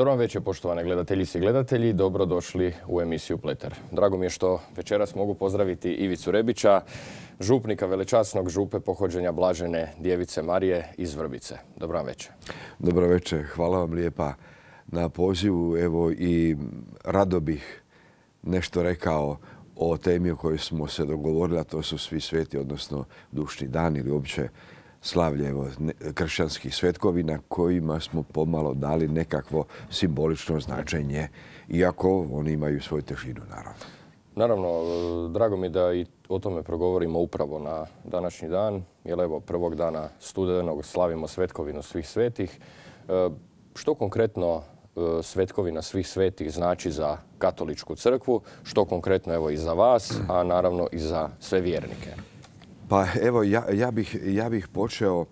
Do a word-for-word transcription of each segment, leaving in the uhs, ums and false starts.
Dobro vam večer, poštovane gledateljice i gledatelji. Dobrodošli u emisiju Pleter. Drago mi je što večeras mogu pozdraviti Ivicu Rebića, župnika velečasnog župe pohođenja Blažene Djevice Marije iz Vrbice. Dobro vam večer. Dobro večer. Hvala vam lijepa na pozivu. Evo i rado bih nešto rekao o temi o kojoj smo se dogovorili, a to su svi sveti, odnosno dušni dan ili uopće slavlje evo, kršćanskih svetkovina kojima smo pomalo dali nekakvo simbolično značenje, iako oni imaju svoju težinu, naravno. Naravno, drago mi da i o tome progovorimo upravo na današnji dan, jer evo prvog dana studenog slavimo svetkovinu svih svetih. Što konkretno svetkovina svih svetih znači za katoličku crkvu, što konkretno evo i za vas, a naravno i za sve vjernike? Pa evo, ja, ja, bih, ja bih počeo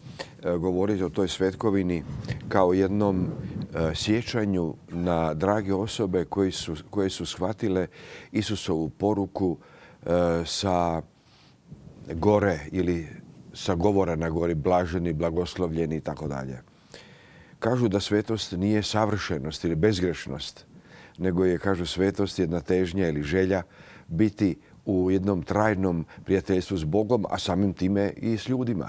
e, govoriti o toj svetkovini kao jednom e, sjećanju na drage osobe koji su, koje su shvatile Isusovu poruku e, sa gore ili sa govora na gori, blaženi, blagoslovljeni i tako dalje. Kažu da svetost nije savršenost ili bezgrešnost, nego je, kažu, svetost jedna težnja ili želja biti u jednom trajnom prijateljstvu s Bogom, a samim time i s ljudima.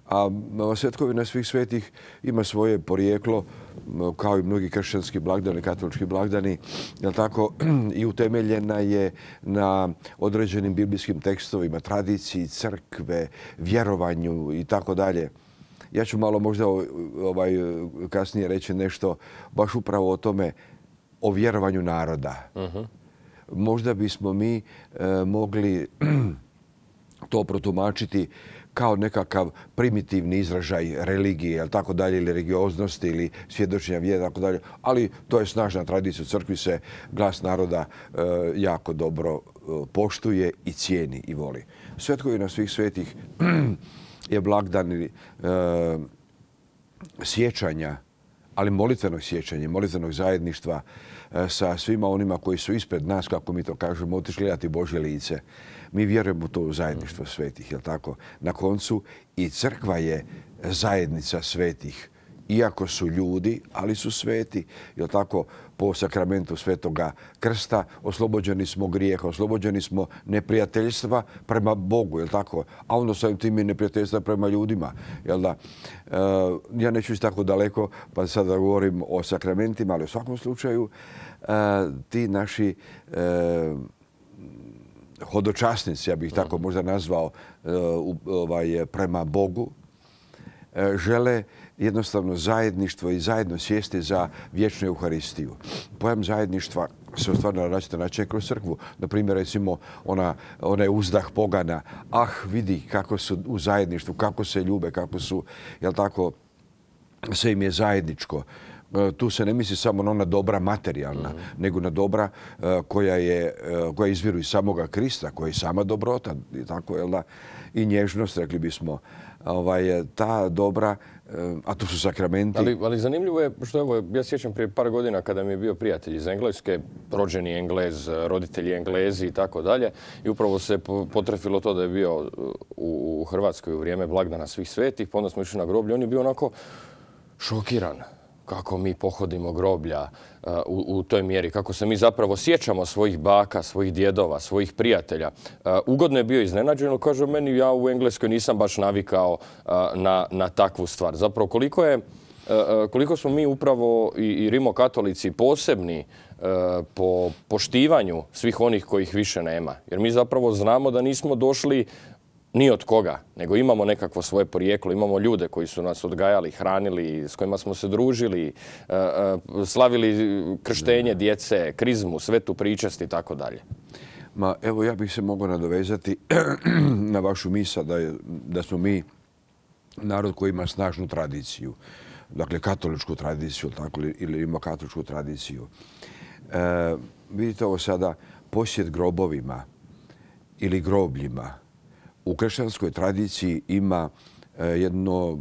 A svetkovina svih svetih ima svoje porijeklo, kao i mnogi kršćanski blagdani, katolički blagdani, jel tako, i utemeljena je na određenim biblijskim tekstovima, tradiciji, crkve, vjerovanju i tako dalje. Ja ću malo možda ovaj, kasnije reći nešto baš upravo o tome, o vjerovanju naroda. Uh-huh. Možda bismo mi e, mogli to protumačiti kao nekakav primitivni izražaj religije, jel tako dalje, ili religioznosti, ili svjedočenja vjere, tako dalje. Ali to je snažna tradicija. U crkvi se glas naroda e, jako dobro e, poštuje i cijeni i voli. Svetkovina svih svetih je blagdan e, sjećanja, ali molitvenog sjećanja, molitvenog zajedništva sa svima onima koji su ispred nas, kako mi to kažemo, otišli gledati Božje lice. Mi vjerujemo u to zajedništvo svetih, jel tako? Na koncu i crkva je zajednica svetih. Iako su ljudi, ali su sveti, jel tako? Po sakramentu Svetoga Krsta oslobođeni smo grijeha, oslobođeni smo neprijateljstva prema Bogu, jel tako? A onda samim tim i neprijateljstva prema ljudima, jel da? E, ja neću ići tako daleko, pa sada govorim o sakramentima, ali u svakom slučaju e, ti naši e, hodočasnici, ja bih tako možda nazvao, e, ovaj, prema Bogu, e, žele jednostavno zajedništvo i zajedno sjesti za vječnu Euharistiju. Pojam zajedništva se ostvaruje na različite načine kroz crkvu. Naprimjer, recimo, ona, onaj uzdah pogana. Ah, vidi kako su u zajedništvu, kako se ljube, kako su, jel tako, sve im je zajedničko. Tu se ne misli samo na ona dobra materijalna, mm-hmm. nego na dobra uh, koja, je, uh, koja izviru iz samoga Krista, koja je sama dobrota, i tako, jel da, i nježnost, rekli bismo. Ovaj, ta dobra, a to su sakramenti. Ali, ali zanimljivo je što evo, ja sjećam prije par godina kada mi je bio prijatelj iz Engleske, rođeni Englez, roditelji Englezi i tako dalje. I upravo se potrefilo to da je bio u Hrvatskoj u vrijeme blagdana svih svetih, pa onda smo išli na groblje. On je bio onako šokiran kako mi pohodimo groblja uh, u, u toj mjeri, kako se mi zapravo sjećamo svojih baka, svojih djedova, svojih prijatelja. Uh, ugodno je bio iznenađen, kaže meni, ja u Engleskoj nisam baš navikao uh, na, na takvu stvar. Zapravo koliko je, uh, koliko smo mi upravo i, i rimokatolici posebni uh, po poštivanju svih onih kojih više nema. Jer mi zapravo znamo da nismo došli ni od koga, nego imamo nekakvo svoje porijeklo, imamo ljude koji su nas odgajali, hranili, s kojima smo se družili, slavili krštenje djece, krizmu, svetu pričast i tako dalje. Ma, evo, ja bih se mogao nadovezati na vašu misao da, je, da smo mi narod koji ima snažnu tradiciju, dakle katoličku tradiciju, tako, ili ima katoličku tradiciju. E, vidite ovo sada, posjet grobovima ili grobljima u kršćanskoj tradiciji ima jedno,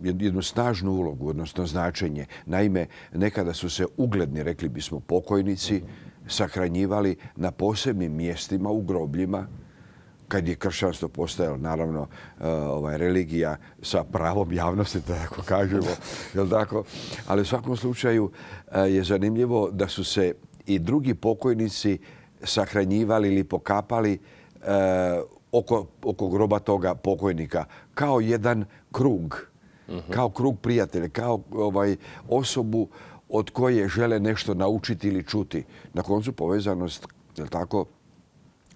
jednu snažnu ulogu, odnosno značenje. Naime, nekada su se ugledni, rekli bismo, pokojnici sahranjivali na posebnim mjestima u grobljima kad je kršćanstvo postajalo, naravno, ovaj, religija sa pravom javnosti, tako kažemo, jel tako? Ali u svakom slučaju je zanimljivo da su se i drugi pokojnici sahranjivali ili pokapali oko, oko groba toga pokojnika kao jedan krug, uh-huh. kao krug prijatelja, kao ovaj, osobu od koje žele nešto naučiti ili čuti. Na koncu povezanost, jel tako,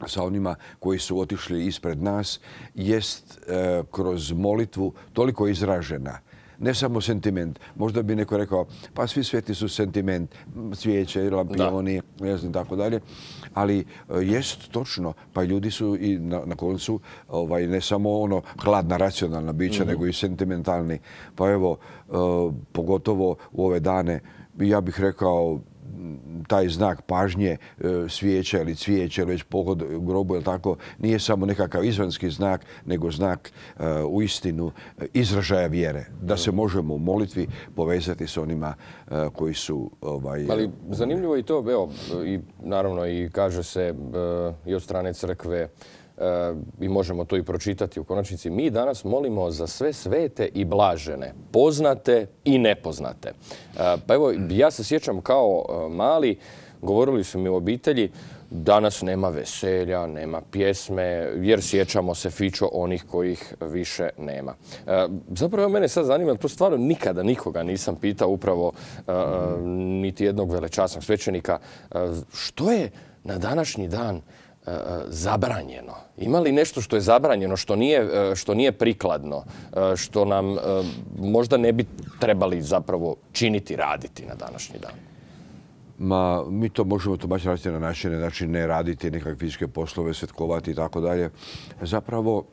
sa onima koji su otišli ispred nas, jest e, kroz molitvu toliko izražena. Ne samo sentiment. Možda bi neko rekao, pa svi sveti su sentiment, cvijeće, lampioni, ne znam, tako dalje. Ali e, jest točno, pa ljudi su i na, na koncu ovaj, ne samo ono hladna, racionalna bića, mm-hmm. nego i sentimentalni. Pa evo, e, pogotovo u ove dane, ja bih rekao, taj znak pažnje, svijeća ili cvijeća ili već pohod u grobu, ili tako, nije samo nekakav izvanjski znak, nego znak uh, u istinu izražaja vjere. Da se možemo u molitvi povezati s onima uh, koji su... Ovaj, Ali zanimljivo je i to, evo, i naravno i kaže se uh, i od strane crkve, i možemo to i pročitati u konačnici, mi danas molimo za sve svete i blažene, poznate i nepoznate. Pa evo, ja se sjećam kao mali, govorili su mi u obitelji, danas nema veselja, nema pjesme, jer sjećamo se fičo onih kojih više nema. Zapravo mene sad zanima, to stvarno nikada nikoga nisam pitao, upravo niti jednog velečasnog svećenika, što je na današnji dan zabranjeno? Ima li nešto što je zabranjeno, što nije, što nije prikladno, što nam možda ne bi trebali zapravo činiti, raditi na današnji dan? Ma, mi to možemo tumačiti raditi na načine, znači ne raditi nekakve fizičke poslove, svetkovati i tako dalje. Zapravo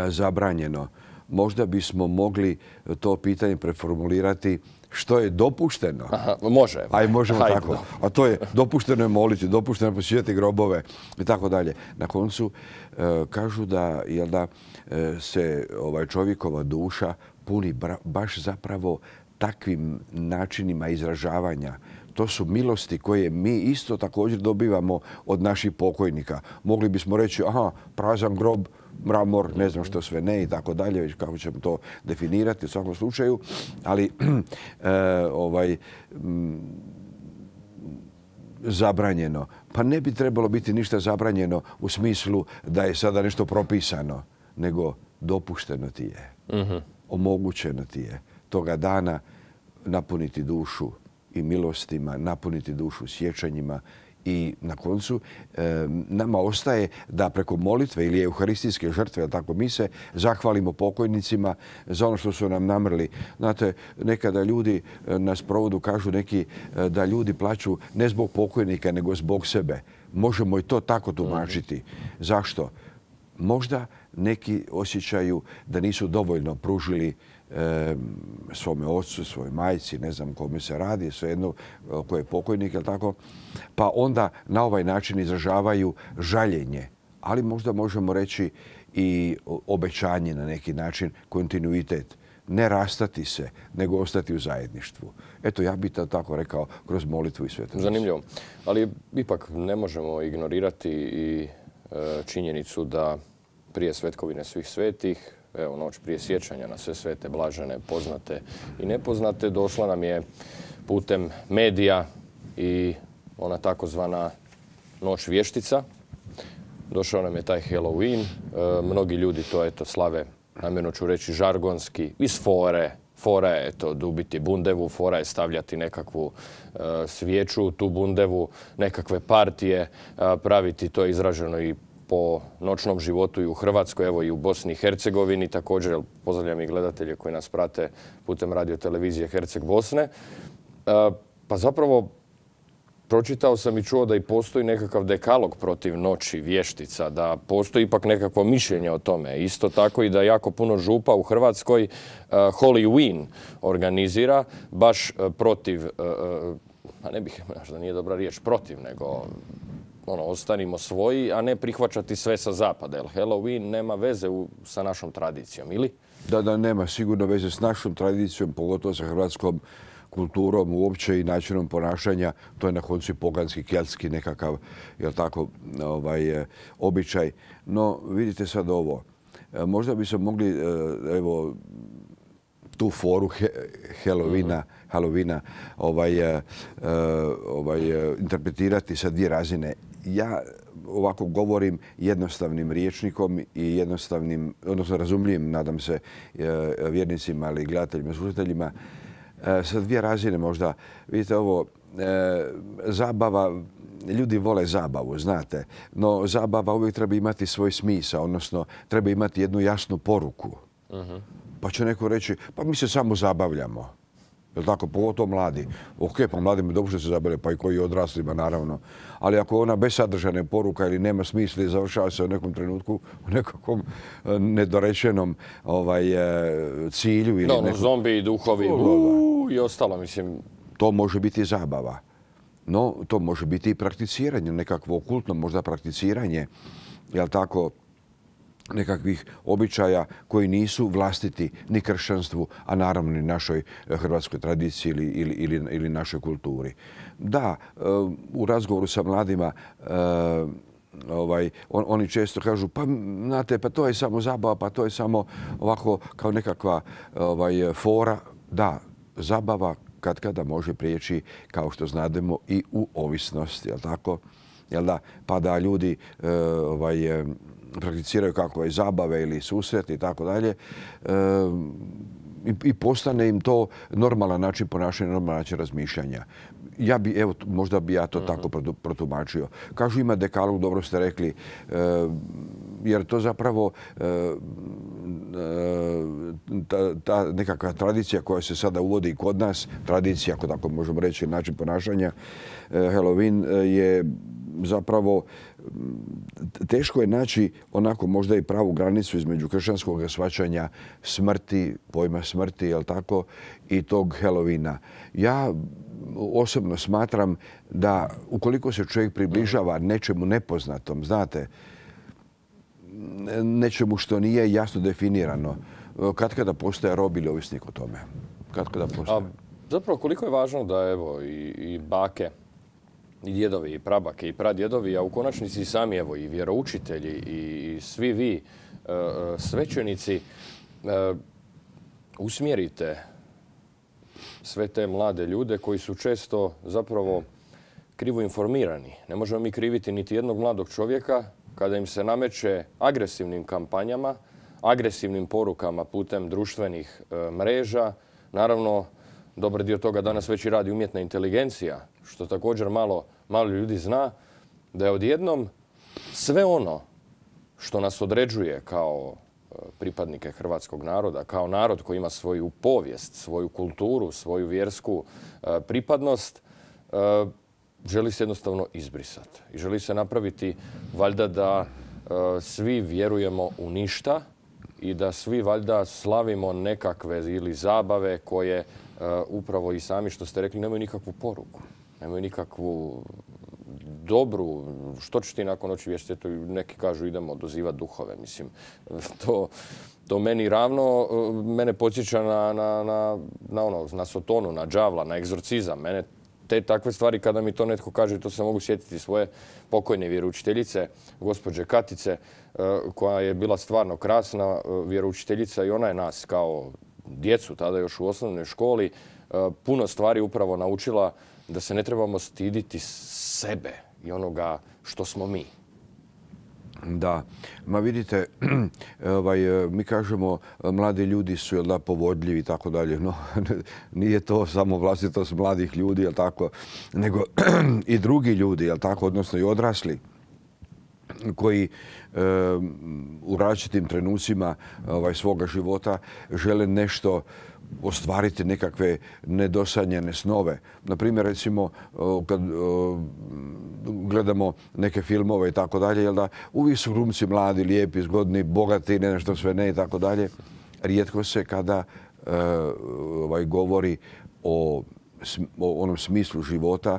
zabranjeno. Možda bismo mogli to pitanje preformulirati što je dopušteno. Aha, može. Aj, možemo Hajde, tako. do. A to je dopušteno je moliti, dopušteno je posjećati grobove i tako dalje. Na koncu e, kažu da, jel da e, se ovaj čovjekova duša puni bra, baš zapravo takvim načinima izražavanja. To su milosti koje mi isto također dobivamo od naših pokojnika. Mogli bismo reći, aha, prazan grob, mramor, ne znam što sve ne i tako dalje, već kako ćemo to definirati u svakom slučaju. Ali e, ovaj, m, zabranjeno. Pa ne bi trebalo biti ništa zabranjeno u smislu da je sada nešto propisano, nego dopušteno ti je. Mm-hmm. Omogućeno ti je toga dana napuniti dušu i milostima, napuniti dušu sjećanjima i na koncu e, nama ostaje da preko molitve ili euharistijske žrtve, tako mi se zahvalimo pokojnicima za ono što su nam namrli. Znate, nekada ljudi na sprovodu kažu neki da ljudi plaću ne zbog pokojnika, nego zbog sebe. Možemo i to tako tumačiti. Zašto? Možda neki osjećaju da nisu dovoljno pružili e, svome ocu, svojoj majci, ne znam kome se radi, svejedno ko je pokojnik, je tako? Pa onda na ovaj način izražavaju žaljenje. Ali možda možemo reći i obećanje na neki način, kontinuitet. Ne rastati se, nego ostati u zajedništvu. Eto, ja bih to tako rekao kroz molitvu i svetost. Zanimljivo. Ali ipak ne možemo ignorirati i e, činjenicu da prije svetkovine svih svetih, evo noć prije sjećanja na sve svete, blažene, poznate i nepoznate, došla nam je putem medija i ona takozvana noć vještica. Došao nam je taj Halloween. E, mnogi ljudi to eto slave, namjerno ću reći žargonski, iz fore. Fora je eto, dubiti bundevu, fora je stavljati nekakvu e, svijeću u tu bundevu, nekakve partije, e, praviti, to je izraženo i po noćnom životu i u Hrvatskoj, evo i u Bosni i Hercegovini također. Pozdravljam i gledatelje koji nas prate putem radio televizije Herceg Bosne. E, pa zapravo pročitao sam i čuo da i postoji nekakav dekalog protiv noći vještica, da postoji ipak nekakvo mišljenje o tome. Isto tako i da jako puno župa u Hrvatskoj uh, Halloween organizira baš uh, protiv, uh, a ne bih, možda nije dobra riječ, protiv, nego ono, ostanimo svoji, a ne prihvaćati sve sa zapada. Jer Halloween nema veze u, sa našom tradicijom, ili? Da, da, nema sigurno veze s našom tradicijom, pogotovo sa hrvatskom kulturom uopće i načinom ponašanja. To je na koncu poganski, keltski nekakav, jel tako, ovaj, običaj. No, vidite sad ovo. Možda bi se mogli, evo, tu foru Halloweena, Halloweena ovaj, ovaj, interpretirati sa dvije razine. Ja ovako govorim jednostavnim rječnikom i jednostavnim, odnosno razumljivim, nadam se, vjernicima, ali gledateljima, slušateljima, sa dvije razine možda. Vidite ovo, zabava, ljudi vole zabavu, znate, no zabava uvijek treba imati svoj smisao, odnosno treba imati jednu jasnu poruku. Uh-huh. Pa će neko reći, pa mi se samo zabavljamo. Je li tako? Pogotovo mladi. Ok, pa mladima dobro što se zabavljaju, pa i koji odraslima, naravno. Ali ako ona bez sadržajne poruka ili nema smisla i završava se u nekom trenutku, u nekakvom nedorečenom ovaj, cilju. Ili no, nekom... zombi, duhovi uu, i ostalo, mislim. To može biti zabava. No, to može biti i prakticiranje, nekakvo okultno možda prakticiranje, jel tako, nekakvih običaja koji nisu vlastiti ni kršćanstvu, a naravno ni našoj hrvatskoj tradiciji ili, ili, ili, ili našoj kulturi. Da, u razgovoru sa mladima ovaj, on, oni često kažu, pa znate, pa to je samo zabava, pa to je samo ovako kao nekakva ovaj, fora. Da, zabava kad kada može prijeći, kao što znademo, i u ovisnost, jel tako? Jel da? Pa da ljudi ovaj, prakticiraju kakve zabave ili susret i tako dalje i postane im to normalan način ponašanja, normalan način razmišljanja. Ja bi, evo, možda bi ja to uh-huh. tako protumačio. Kažu ima dekalog, dobro ste rekli, jer to zapravo ta, ta nekakva tradicija koja se sada uvodi i kod nas, tradicija, ako tako možemo reći, način ponašanja, Halloween je zapravo teško je naći onako možda i pravu granicu između kršćanskog shvaćanja smrti, pojma smrti, jel tako, i tog Halloweena. Ja osobno smatram da ukoliko se čovjek približava nečemu nepoznatom, znate, nečemu što nije jasno definirano, katkada postaje rob ili ovisnik o tome. Katkada postaje. A zapravo koliko je važno da evo i, i bake, i djedovi, i prabake, i pradjedovi, a u konačnici i sami evo i vjeroučitelji i svi vi svećenici usmjerite sve te mlade ljude koji su često zapravo krivo informirani. Ne možemo mi kriviti niti jednog mladog čovjeka kada im se nameće agresivnim kampanjama, agresivnim porukama putem društvenih mreža. Naravno, dobar dio toga danas već i radi umjetna inteligencija, što također malo, malo ljudi zna, da je odjednom sve ono što nas određuje kao pripadnike hrvatskog naroda, kao narod koji ima svoju povijest, svoju kulturu, svoju vjersku pripadnost, želi se jednostavno izbrisati. I želi se napraviti valjda da svi vjerujemo u ništa i da svi valjda slavimo nekakve ili zabave koje upravo i sami što ste rekli nemaju nikakvu poruku, nemaju nikakvu dobru, što će ti nakon noći vješti, neki kažu idemo dozivati duhove. Mislim, to, to meni ravno, mene podsjeća na, na, na, na, ono, na Sotonu, na đavla, na egzorcizam. Mene te takve stvari, kada mi to netko kaže, to se mogu sjetiti svoje pokojne vjeroučiteljice, gospođe Katice, koja je bila stvarno krasna vjeroučiteljica i ona je nas kao djecu, tada još u osnovnoj školi, puno stvari upravo naučila da se ne trebamo stiditi sebe i onoga što smo mi. Da, ma vidite, ovaj, mi kažemo mladi ljudi su jel da, povodljivi i tako dalje, no nije to samo vlastitost mladih ljudi, jel tako, nego i drugi ljudi, jel tako, odnosno i odrasli koji e, u različitim trenucima ovaj, svoga života žele nešto ostvariti, nekakve nedosanjene snove. Naprimjer, recimo, kad gledamo neke filmove i tako dalje, jel da, uvijek su glumci mladi, lijepi, zgodni, bogati, ne nešto sve ne i tako dalje. Rijetko se kada e, ovaj, govori o, o onom smislu života, e,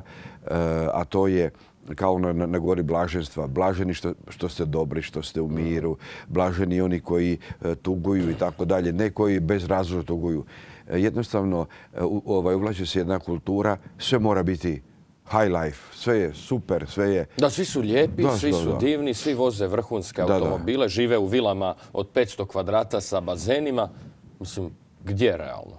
a to je kao na, na gori blaženstva. Blaženi što, što ste dobri, što ste u miru. Blaženi oni koji e, tuguju i tako dalje. Ne koji bez razloga tuguju. E, jednostavno, e, u, ovaj, uvlači se jedna kultura, sve mora biti high life, sve je super, sve je... Da, svi su lijepi, da, svi da, su da. divni, svi voze vrhunske Da, automobile, da. žive u vilama od petsto kvadrata sa bazenima. Mislim, gdje realno?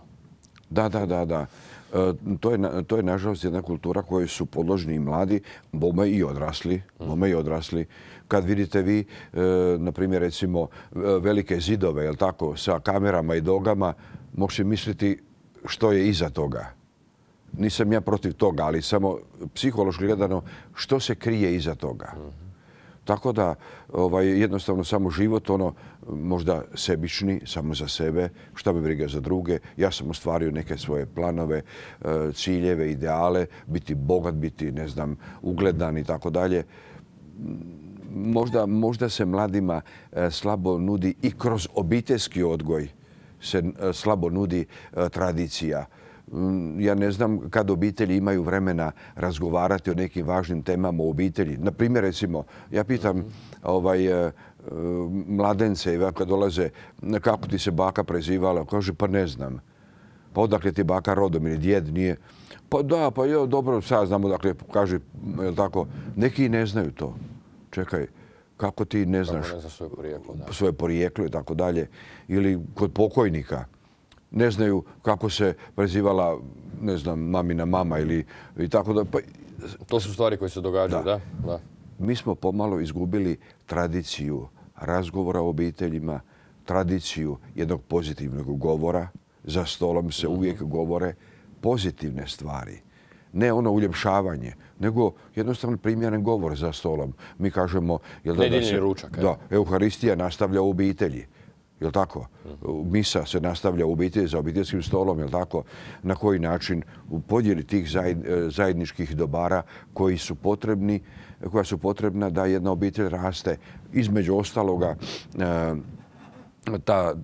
Da, da, da, da. E, to, je, to je nažalost jedna kultura kojoj su podložni i mladi, bome i odrasli, bome i odrasli. Kad vidite vi, e, na primjer, recimo, velike zidove, jel tako, sa kamerama i dogama, možete misliti što je iza toga. Nisam ja protiv toga, ali samo psihološki gledano što se krije iza toga. Mm-hmm. Tako da ovaj, jednostavno samo život, ono možda sebični, samo za sebe, šta me briga za druge. Ja sam ostvario neke svoje planove, ciljeve, ideale, biti bogat, biti, ne znam, ugledan i tako dalje. Možda, možda se mladima slabo nudi i kroz obiteljski odgoj se slabo nudi tradicija. Ja ne znam kad obitelji imaju vremena razgovarati o nekim važnim temama u obitelji. Na primjer, recimo, ja pitam ovaj, mladence kad dolaze kako ti se baka prezivala. Kaže, pa ne znam. Pa odakle ti baka rodom ili djed nije? Pa da, pa jo, dobro, sad znamo, dakle, kaže, je li tako, neki ne znaju to. Čekaj, kako ti ne znaš kako ne zna svoje porijeklo, da. svoje porijeklo i tako dalje. Ili kod pokojnika. Ne znaju kako se prezivala, ne znam, mamina mama ili i tako da. Pa, to su stvari koje se događaju, da. da? da. Mi smo pomalo izgubili tradiciju razgovora o obiteljima, tradiciju jednog pozitivnog govora. Za stolom se mm-hmm. uvijek govore pozitivne stvari. Ne ono uljepšavanje, nego jednostavno primjeren govor za stolom. Mi kažemo... Jel da, Nedjeljni da se, ručak. Da, Euharistija nastavlja u obitelji. Jel' tako? Misa se nastavlja u obitelji za obiteljskim stolom, jel' tako? Na koji način u podjeli tih zajedničkih dobara koji su potrebni, koja su potrebna da jedna obitelj raste. Između ostaloga, ta,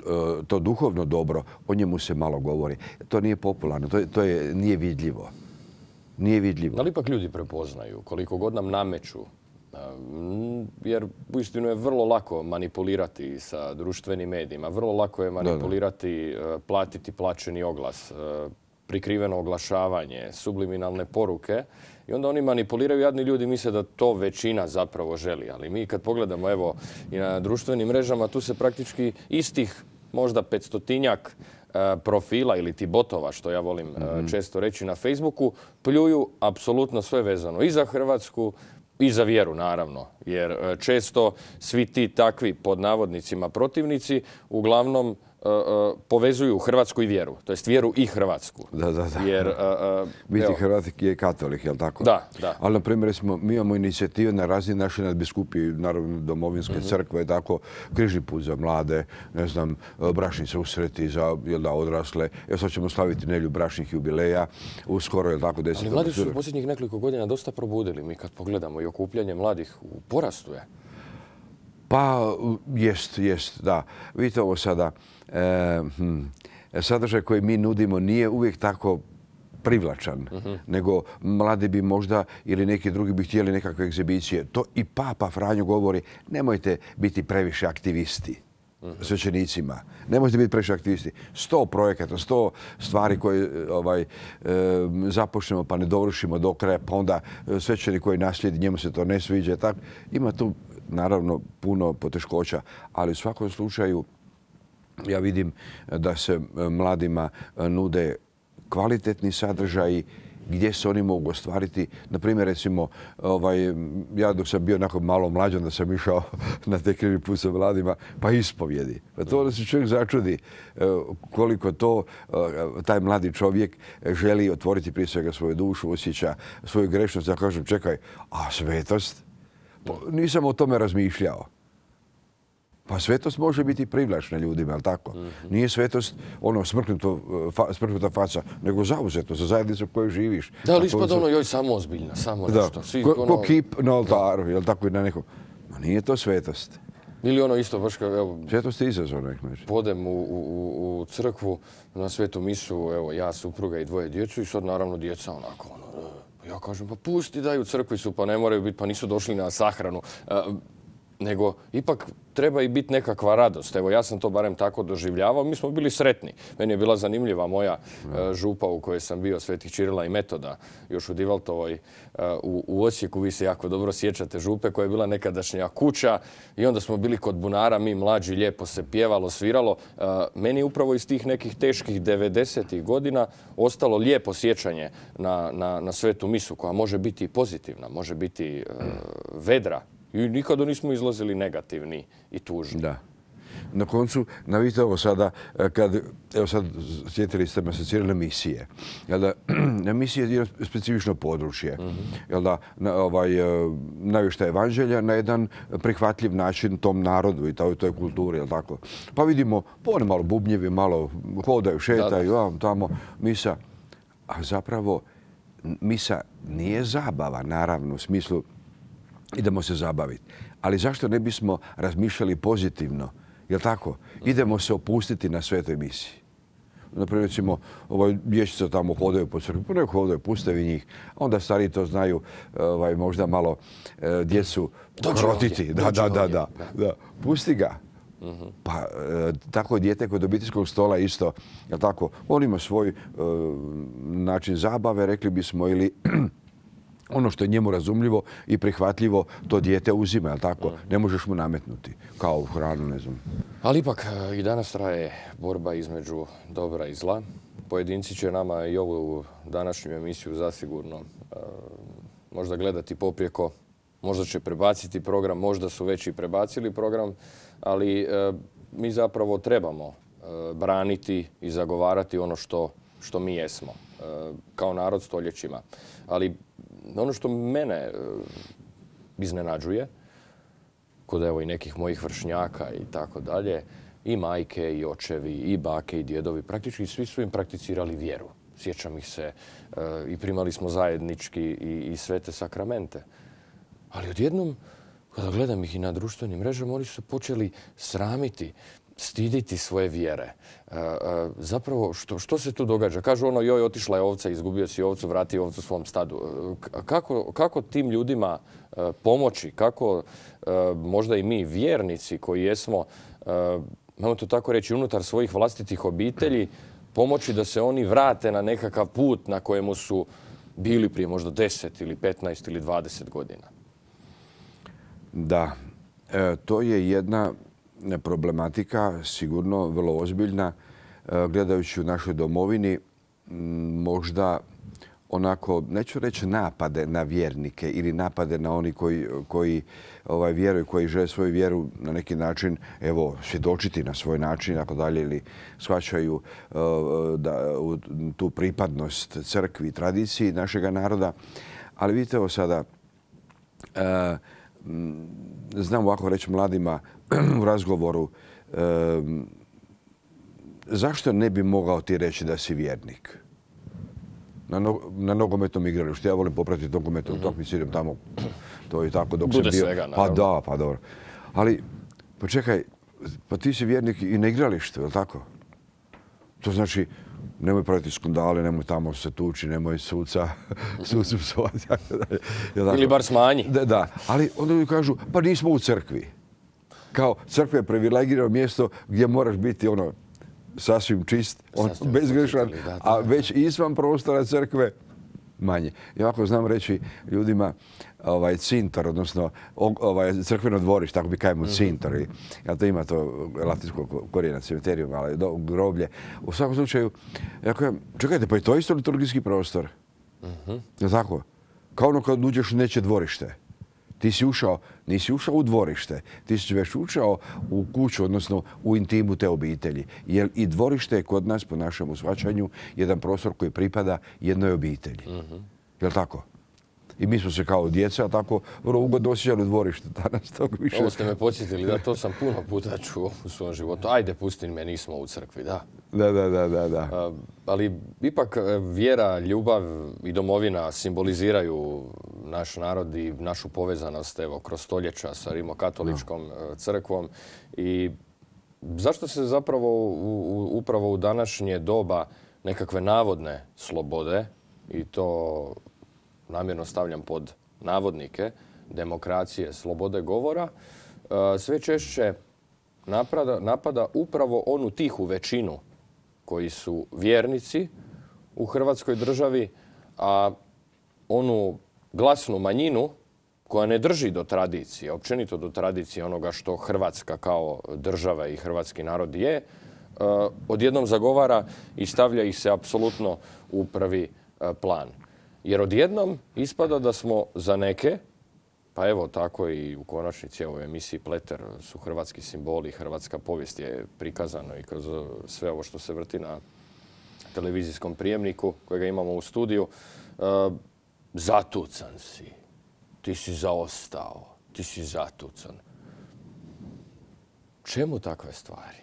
to duhovno dobro, o njemu se malo govori. To nije popularno, to, je, to je, nije vidljivo. Nije vidljivo. Ali ipak ljudi prepoznaju, koliko god nam nameću. Jer uistinu je vrlo lako manipulirati sa društvenim medijima. Vrlo lako je manipulirati, da, da. platiti plaćeni oglas, prikriveno oglašavanje, subliminalne poruke. I onda oni manipuliraju, jadni ljudi misle da to većina zapravo želi. Ali mi kad pogledamo evo i na društvenim mrežama, tu se praktički istih možda petstotinjak profila ili ti botova, što ja volim mm-hmm. često reći na Facebooku, pljuju apsolutno sve vezano i za Hrvatsku, i za vjeru, naravno, jer često svi ti takvi, pod navodnicima, protivnici uglavnom uh, uh, povezuju Hrvatsku i vjeru, to jest vjeru i Hrvatsku. Da, da, da. Jer, uh, uh, biti Hrvat je katolik, je li tako? Da, da. Ali, na primjer, smo, mi imamo inicijative na razini naše nadbiskupije, naravno domovinske mm-hmm. crkve, tako, križni put za mlade, ne znam, bračni susreti za jel da, odrasle. Evo sad ćemo slaviti nedjelju bračnih jubileja, uskoro, je li tako, deset. Ali mladi su u posljednjih nekoliko godina dosta probudili. Mi kad pogledamo i okupljanje mladih u porastu je. Pa, jest, jest, da. Vidite ovo sada, e, hm, sadržaj koji mi nudimo nije uvijek tako privlačan, mm-hmm. nego mladi bi možda ili neki drugi bi htjeli nekakve egzibicije. To i Papa Franjo govori, nemojte biti previše aktivisti. Svećenicima. Nemojte biti previše aktivisti. Sto projekata, sto stvari koje ovaj, e, započnemo pa ne dovršimo do kraja, pa onda svećenik koji naslijedi, njemu se to ne sviđa. Tak. Ima tu naravno puno poteškoća, ali u svakom slučaju ja vidim da se mladima nude kvalitetni sadržaji gdje se oni mogu ostvariti. Na primjer, recimo, ovaj, ja dok sam bio onako malo mlađan da sam išao na te križni put sa mladima, pa ispovjedi. Pa to da se čovjek začudi koliko to taj mladi čovjek želi otvoriti prije svega svoju dušu, osjeća svoju grešnost. Ja kažem, čekaj, a svetost? Pa, nisam o tome razmišljao. Pa svetost može biti privlačna ljudima, ali tako? Mm-hmm. Nije svetost ono smrknuto, fa, smrknuta faca, nego zauzeto za zajednicu u kojoj živiš. Da, ali ispada ono, joj, samo ozbiljna, samo da. nešto. Svi, ko, ono... ko kip na oltaru, jel tako i na nekom. Ma nije to svetost. Ili ono isto, baš kao, evo... Svetost je izazov, nek među. Podem u, u, u crkvu, na svetu misu, evo, ja, supruga i dvoje djecu i sad naravno djeca onako, ono, Ja kažem, pa pusti, daj, u crkvi su, pa ne moraju biti, pa nisu došli na sahranu. Nego ipak treba i biti nekakva radost. Evo, ja sam to barem tako doživljavao. Mi smo bili sretni. Meni je bila zanimljiva moja župa u kojoj sam bio, Svetih Čirila i Metoda, još u Divaltovoj u, u Osijeku. Vi se jako dobro sjećate župe koja je bila nekadašnja kuća i onda smo bili kod bunara, mi mlađi, lijepo se pjevalo, sviralo. Meni je upravo iz tih nekih teških devedesetih godina ostalo lijepo sjećanje na, na, na svetu misu koja može biti i pozitivna, može biti uh, vedra. I nikada nismo izlazili negativni i tužni. Da. Na koncu, navite ovo sada, kad, evo sad sjetili ste me asocirane misije. Jel da, misije je specifično područje. Jel da, na, ovaj, navještaj evanđelja na jedan prihvatljiv način tom narodu i toj, toj kulturi, jel tako? Pa vidimo, oni malo bubnjevi, malo hodaju, šetaju, da, da. Tamo, misa. A zapravo, misa nije zabava, naravno, u smislu idemo se zabaviti. Ali zašto ne bismo razmišljali pozitivno? Jel' tako? Idemo se opustiti na svetoj misiji. Naprimjer, recimo, ovaj, dječica tamo hodaju po crkvi, nek hodaju, puste vi njih. Onda stariji to znaju ovaj, možda malo e, djecu krotiti. Da, da, da, da, da. Pusti ga. Uh-huh. Pa e, tako dijete kod obiteljskog stola isto, jel' tako? On ima svoj e, način zabave, rekli bismo, ili ono što je njemu razumljivo i prihvatljivo, to dijete uzima, jel' tako? Ne možeš mu nametnuti, kao hranu, ne znam. Ali ipak i danas traje borba između dobra i zla. Pojedinci će nama i ovu današnju emisiju zasigurno uh, možda gledati poprijeko, možda će prebaciti program, možda su već i prebacili program, ali uh, mi zapravo trebamo uh, braniti i zagovarati ono što, što mi jesmo, uh, kao narod stoljećima. Ali ono što mene iznenađuje, kod evo i nekih mojih vršnjaka i tako dalje, i majke, i očevi, i bake, i djedovi, praktički svi su im prakticirali vjeru. Sjećam ih se i primali smo zajednički i, i svete sakramente. Ali odjednom, kada gledam ih i na društvenim mrežama, oni su počeli sramiti, stiditi svoje vjere. E, e, zapravo, što, što se tu događa? Kažu ono, joj, otišla je ovca, izgubio si ovcu, vrati ovcu svom stadu. E, kako, kako tim ljudima e, pomoći? Kako e, možda i mi, vjernici koji jesmo, e, imamo to tako reći, unutar svojih vlastitih obitelji, pomoći da se oni vrate na nekakav put na kojemu su bili prije možda deset ili petnaest ili dvadeset godina? Da, e, to je jedna problematika, sigurno vrlo ozbiljna, gledajući u našoj domovini, možda onako, neću reći napade na vjernike ili napade na oni koji, koji ovaj, vjeruju, koji žele svoju vjeru na neki način, evo, svjedočiti na svoj način, ako dalje, ili shvaćaju uh, da, u, tu pripadnost crkvi i tradiciji našega naroda. Ali vidite ovo sada, uh, znam ovako reći mladima u razgovoru, e, zašto ne bi mogao ti reći da si vjernik? Na, no, na nogometnom igralištu. Ja volim popratiti nogometnom mm-hmm. utakmicu, idem tamo, to i tako dok Bude sam bio. Svega, pa da, pa dobro. Ali, pa čekaj, pa ti si vjernik i na igralištu, je li tako? To znači, nemoj praviti skandale, nemoj tamo se tući, nemoj suca, sucu psovati. Ili bar smanji. Da, da, ali onda ljudi kažu, pa nismo u crkvi. Kao crkva je privilegirano mjesto gdje moraš biti ono sasvim čist, on, bezgrešan, a već izvan prostora crkve manje. Ja ovako znam reći ljudima ovaj cintor, odnosno ovaj crkveno dvorište, tako bi kajemo cintor. Ja to ima to latinsko korijena cemiterijum, ali do, groblje. U svakom slučaju, ja kažem, čekajte, pa je to isto liturgijski prostor. Uh-huh. Je tako? Kao ono kad uđeš u neće dvorište. Ti si ušao, nisi ušao u dvorište, ti si već ušao u kuću, odnosno u intimu te obitelji. Jer i dvorište je kod nas, po našem shvaćanju, jedan prostor koji pripada jednoj obitelji. Uh-huh. Je li tako? I mi smo se kao djeca tako vrlo ugodno osjećali u dvorištu. Danas tog više... Ovo ste me podsjetili, da, to sam puno puta čuo u svom životu. Ajde, pusti me, nismo u crkvi, da. Da, da, da, da, da. A, ali ipak vjera, ljubav i domovina simboliziraju naš narod i našu povezanost, evo, kroz stoljeća sa rimokatoličkom no. crkvom. I zašto se zapravo u, u, upravo u današnje doba nekakve navodne slobode i to namjerno stavljam pod navodnike, demokracije, slobode govora, sve češće napada, napada upravo onu tihu većinu koji su vjernici u Hrvatskoj državi, a onu glasnu manjinu koja ne drži do tradicije, općenito do tradicije onoga što Hrvatska kao država i hrvatski narod je, odjednom zagovara i stavlja ih se apsolutno u prvi plan. Jer odjednom ispada da smo za neke, pa evo tako i u konačnici u emisiji Pleter su hrvatski simboli, hrvatska povijest je prikazano i kroz sve ovo što se vrti na televizijskom prijemniku kojega imamo u studiju. Zatucan si, ti si zaostao, ti si zatucan. Čemu takve stvari?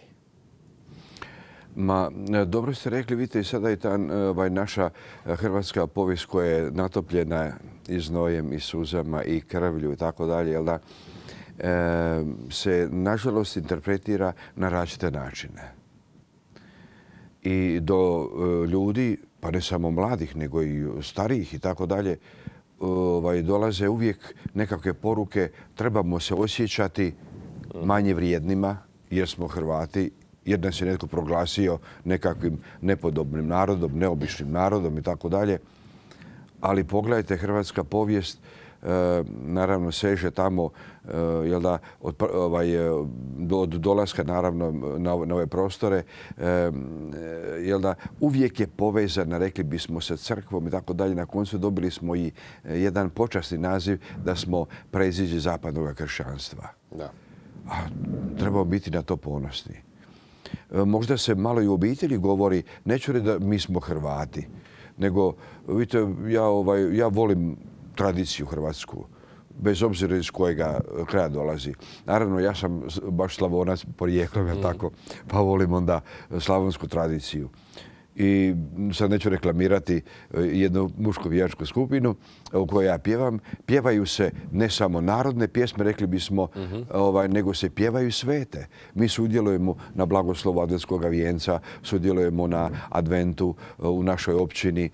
Ma, dobro ste rekli, vidite i sada i ta ovaj, naša hrvatska povijest koja je natopljena i znojem i suzama i krvlju i tako dalje, jel da, e, se nažalost interpretira na različite načine. I do e, ljudi, pa ne samo mladih, nego i starijih i tako dalje, ovaj, dolaze uvijek nekakve poruke, trebamo se osjećati manje vrijednima jer smo Hrvati, jer nas je netko proglasio nekakvim nepodobnim narodom, neobičnim narodom i tako dalje. Ali pogledajte, hrvatska povijest e, naravno seže tamo e, jel da, od, ovaj, do, od dolaska naravno na, na ove prostore. E, jel da, uvijek je povezana, rekli bismo, sa crkvom i tako dalje. Na koncu dobili smo i jedan počasni naziv da smo preziđe zapadnog kršćanstva. Da. A trebamo biti na to ponosni. Možda se malo i u obitelji govori, neću reći da mi smo Hrvati, nego, vidite, ja, ovaj, ja volim tradiciju hrvatsku, bez obzira iz kojega kraja dolazi. Naravno, ja sam baš Slavonac porijeklom, mm. tako, pa volim onda slavonsku tradiciju. I sad neću reklamirati jednu mušku vijačku skupinu u kojoj ja pjevam. Pjevaju se ne samo narodne pjesme, rekli bismo, mm-hmm. ovaj, nego se pjevaju svete. Mi sudjelujemo na blagoslovu adventskog vijenca, sudjelujemo na adventu u našoj općini. E,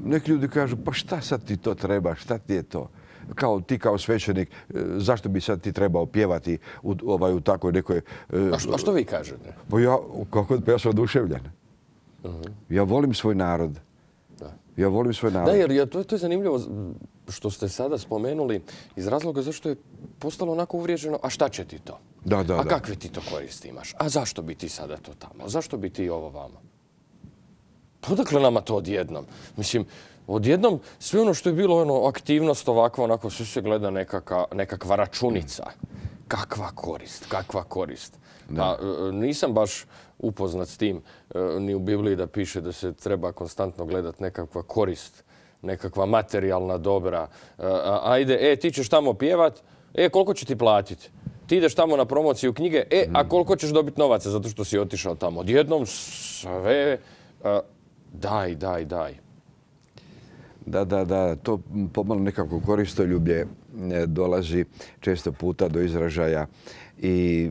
neki ljudi kažu, pa šta sad ti to treba, šta ti je to? Kao ti kao svećenik, zašto bi sad ti trebao pjevati u, ovaj, u takvoj nekoj... A što, a što vi kažete? Pa ja, kako, ja sam oduševljen. Uh-huh. Ja volim svoj narod. Da. Ja volim svoj narod. Da, jer ja, to, to je zanimljivo što ste sada spomenuli iz razloga zašto je postalo onako uvriježeno, a šta će ti to? Da, da, a da. kakve ti to koristi imaš? A zašto bi ti sada to tamo? Zašto bi ti ovo vamo? Pa odakle nama to odjednom? Mislim, odjednom sve ono što je bilo ono, aktivnost ovakva, onako sve se gleda nekaka, nekakva računica. Kakva korist, kakva korist. Pa, nisam baš upoznat s tim ni u Bibliji da piše da se treba konstantno gledati nekakva korist, nekakva materijalna dobra. Ajde, e, ti ćeš tamo pjevat, e, koliko će ti platiti? Ti ideš tamo na promociju knjige, e, a koliko ćeš dobiti novaca zato što si otišao tamo? Odjednom sve, daj, daj, daj. Da, da, da, to pomalo nekako koristoljublje dolazi često puta do izražaja. I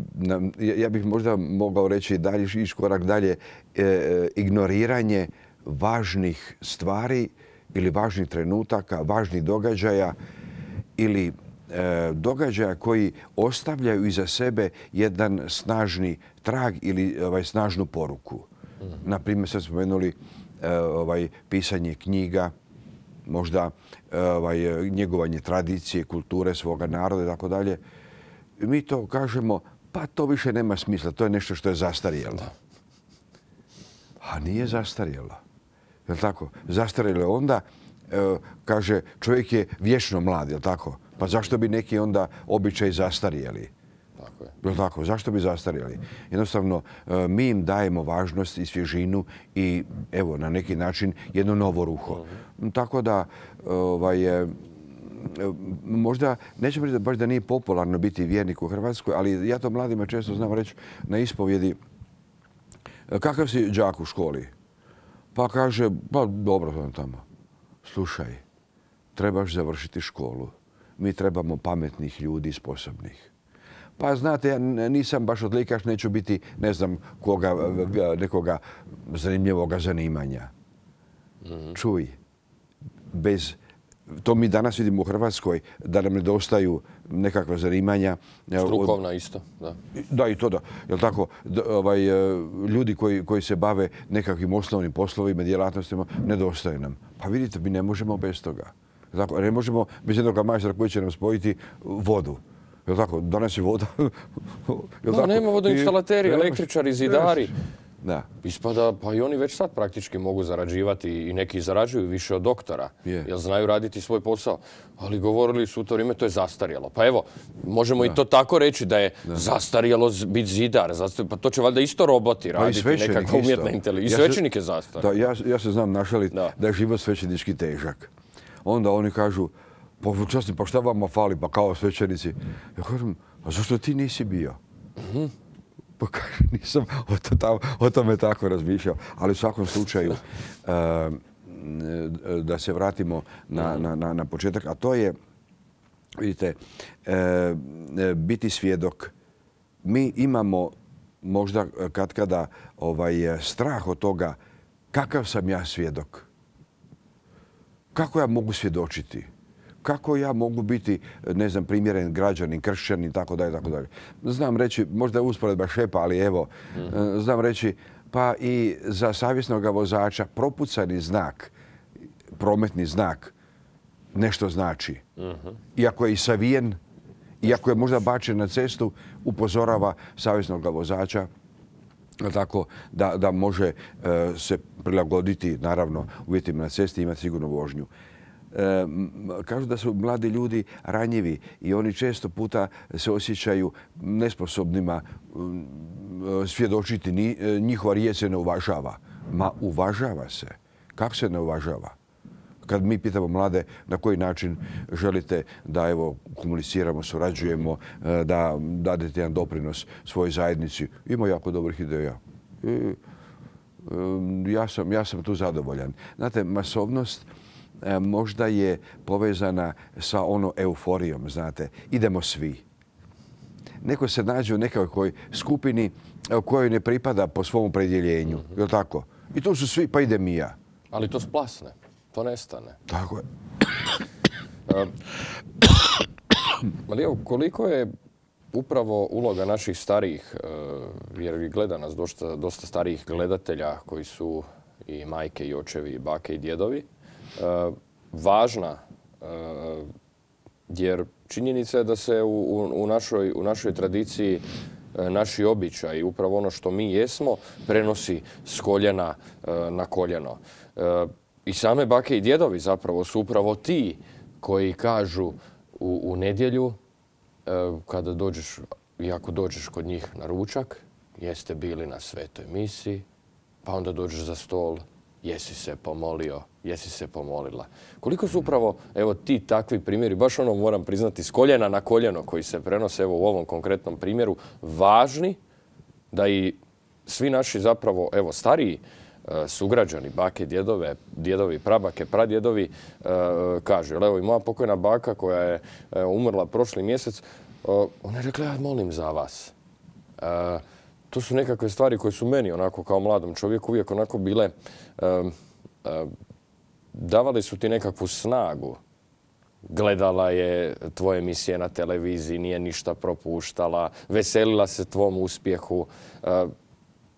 ja bih možda mogao reći dalje, ići korak dalje, e, ignoriranje važnih stvari ili važnih trenutaka, važnih događaja ili e, događaja koji ostavljaju iza sebe jedan snažni trag ili ovaj, snažnu poruku. Mm. Na primjer, sad spomenuli e, ovaj, pisanje knjiga, možda ovaj, njegovanje tradicije, kulture svoga naroda i tako dalje. Mi to kažemo, pa to više nema smisla, to je nešto što je zastarjelo. A nije zastarjelo. Je li tako? Zastarjelo je onda, e, kaže, čovjek je vječno mlad, je li tako? Pa zašto bi neki onda običaj zastarjeli? Tako je. Je li tako? Zašto bi zastarjeli? Jednostavno, e, mi im dajemo važnost i svježinu i, evo, na neki način jedno novo ruho. Uh-huh. Tako da, ovaj, možda, nećemo reći baš da nije popularno biti vjernik u Hrvatskoj, ali ja to mladima često znam reći na ispovjedi. Kakav si đak u školi? Pa kaže, pa dobro sam tamo. Slušaj, trebaš završiti školu. Mi trebamo pametnih ljudi, sposobnih. Pa znate, ja nisam baš odlikaš, neću biti, ne znam, koga, nekoga zanimljivoga zanimanja. Mm-hmm. Čuj, bez to mi danas vidimo u Hrvatskoj, da nam nedostaju nekakva zanimanja. Strukovna isto, da. Da, i to da. Jel tako, ovaj, ljudi koji, koji se bave nekakvim osnovnim poslovima, djelatnostima, nedostaje nam. Pa vidite, mi ne možemo bez toga. Tako, ne možemo bez jednog majstora koji će nam spojiti vodu. Jel tako, danas je voda. No, tako? Nema vodoinstalateri, električari, zidari. Da. Ispada, pa i oni već sad praktički mogu zarađivati i neki zarađuju više od doktora, je. Jer znaju raditi svoj posao. Ali govorili su u to vrijeme, to je zastarjelo. Pa evo, možemo da. i to tako reći da je da. zastarjelo biti zidar. Pa to će valjda isto roboti raditi, pa nekakva umjetna inteligencija. I ja svećenik je zastarjelo. Da, ja, ja se znam našaliti da. da je život svećenički težak. Onda oni kažu, pa časni, pa šta vama fali, pa kao svećenici. Ja kažem, a zašto ti nisi bio? Mhm. Pa kažem, nisam o, to tam, o tome tako razmišljao. Ali u svakom slučaju, uh, da se vratimo na, na, na, na početak, a to je, vidite, uh, biti svjedok. Mi imamo možda katkada ovaj, strah od toga kakav sam ja svjedok. Kako ja mogu svjedočiti? Kako ja mogu biti, ne znam, primjeren građanin, kršćanin, tako dalje, tako dalje. Znam reći, možda je usporedba šepa, ali evo, mm. znam reći, pa i za savjesnog vozača propucani znak, prometni znak, nešto znači. Mm-hmm. Iako je i savijen, iako je možda bačen na cestu, upozorava savjesnog vozača tako da, da može uh, se prilagoditi, naravno, uvjetima na cesti i imati sigurnu vožnju. E, kažu da su mladi ljudi ranjivi i oni često puta se osjećaju nesposobnima svjedočiti. Ni, njihova riječ se ne uvažava. Ma uvažava se. Kako se ne uvažava? Kad mi pitamo mlade na koji način želite da evo komuniciramo, surađujemo, da dadete jedan doprinos svojoj zajednici, ima jako dobrih ideja. I, ja, sam, ja sam tu zadovoljan. Znate, masovnost možda je povezana sa ono euforijom, znate. Idemo svi. Neko se nađe u nekakvoj skupini kojoj ne pripada po svom opredjeljenju. Mm-hmm. Je li tako? I tu su svi, pa idem i ja. Ali to splasne. To nestane. Tako je. Ali evo, koliko je upravo uloga naših starijih, jer gleda nas dosta, dosta starijih gledatelja koji su i majke i očevi, i bake i djedovi, važna, jer činjenica je da se u, u, našoj, u našoj tradiciji naši običaji, upravo ono što mi jesmo, prenosi s koljena na koljeno. I same bake i djedovi zapravo su upravo ti koji kažu u, u nedjelju, kada dođeš, i ako dođeš kod njih na ručak, jeste bili na svetoj misi, pa onda dođeš za stol, jesi se pomolio, jesi se pomolila. Koliko su upravo evo ti takvi primjeri, baš ono moram priznati s koljena na koljeno koji se prenose evo u ovom konkretnom primjeru, važni da i svi naši zapravo evo stariji sugrađani, bake, djedove, djedovi, prabake, pradjedovi kažu. Evo i moja pokojna baka koja je umrla prošli mjesec, ona je rekla ja molim za vas. To su nekakve stvari koje su meni onako kao mladom čovjeku uvijek onako bile, davali su ti nekakvu snagu. Gledala je tvoje emisije na televiziji, nije ništa propuštala, veselila se tvom uspjehu.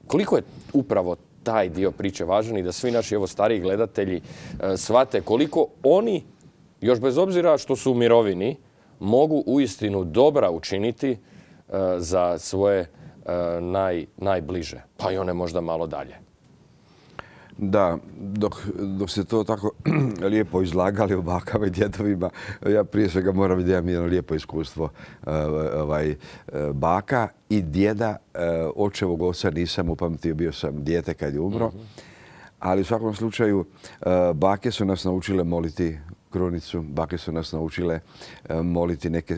Koliko je upravo taj dio priče važan i da svi naši evo stariji gledatelji shvate koliko oni, još bez obzira što su u mirovini, mogu uistinu dobra učiniti za svoje naj, najbliže, pa i one možda malo dalje. Da, dok, dok se to tako lijepo izlagali o bakama i djedovima, ja prije svega moram vidjeti da imam jedno lijepo iskustvo ovaj, baka i djeda. Očevog oca nisam upamtio, bio sam dijete kad je umro. Mm-hmm. Ali u svakom slučaju bake su nas naučile moliti krunicu, bake su nas naučile moliti neke,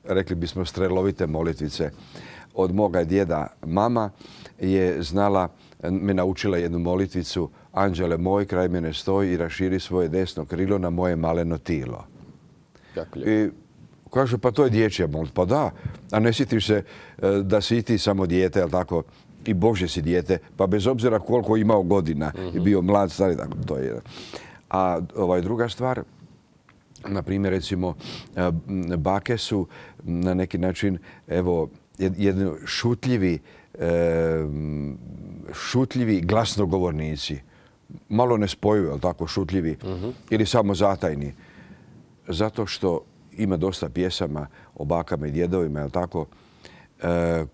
rekli bismo, strelovite molitvice. Od moga djeda mama je znala, me naučila jednu molitvicu: Anđele moj, kraj mene stoji i raširi svoje desno krilo na moje maleno tilo. I kaže, pa to je dječja molitva. Pa da, a ne sjetiš se da si i ti samo dijete, ali tako, i Bože si dijete, pa bez obzira koliko imao godina, mm-hmm. i bio mlad, stari, tako to je. A ovaj, druga stvar, Na primjer, recimo, bake su na neki način, evo, jedni šutljivi, šutljivi glasnogovornici. Malo nespojivi, ali tako, šutljivi ili samo zatajni. Zato što ima dosta pjesama o bakama i djedovima, jel tako,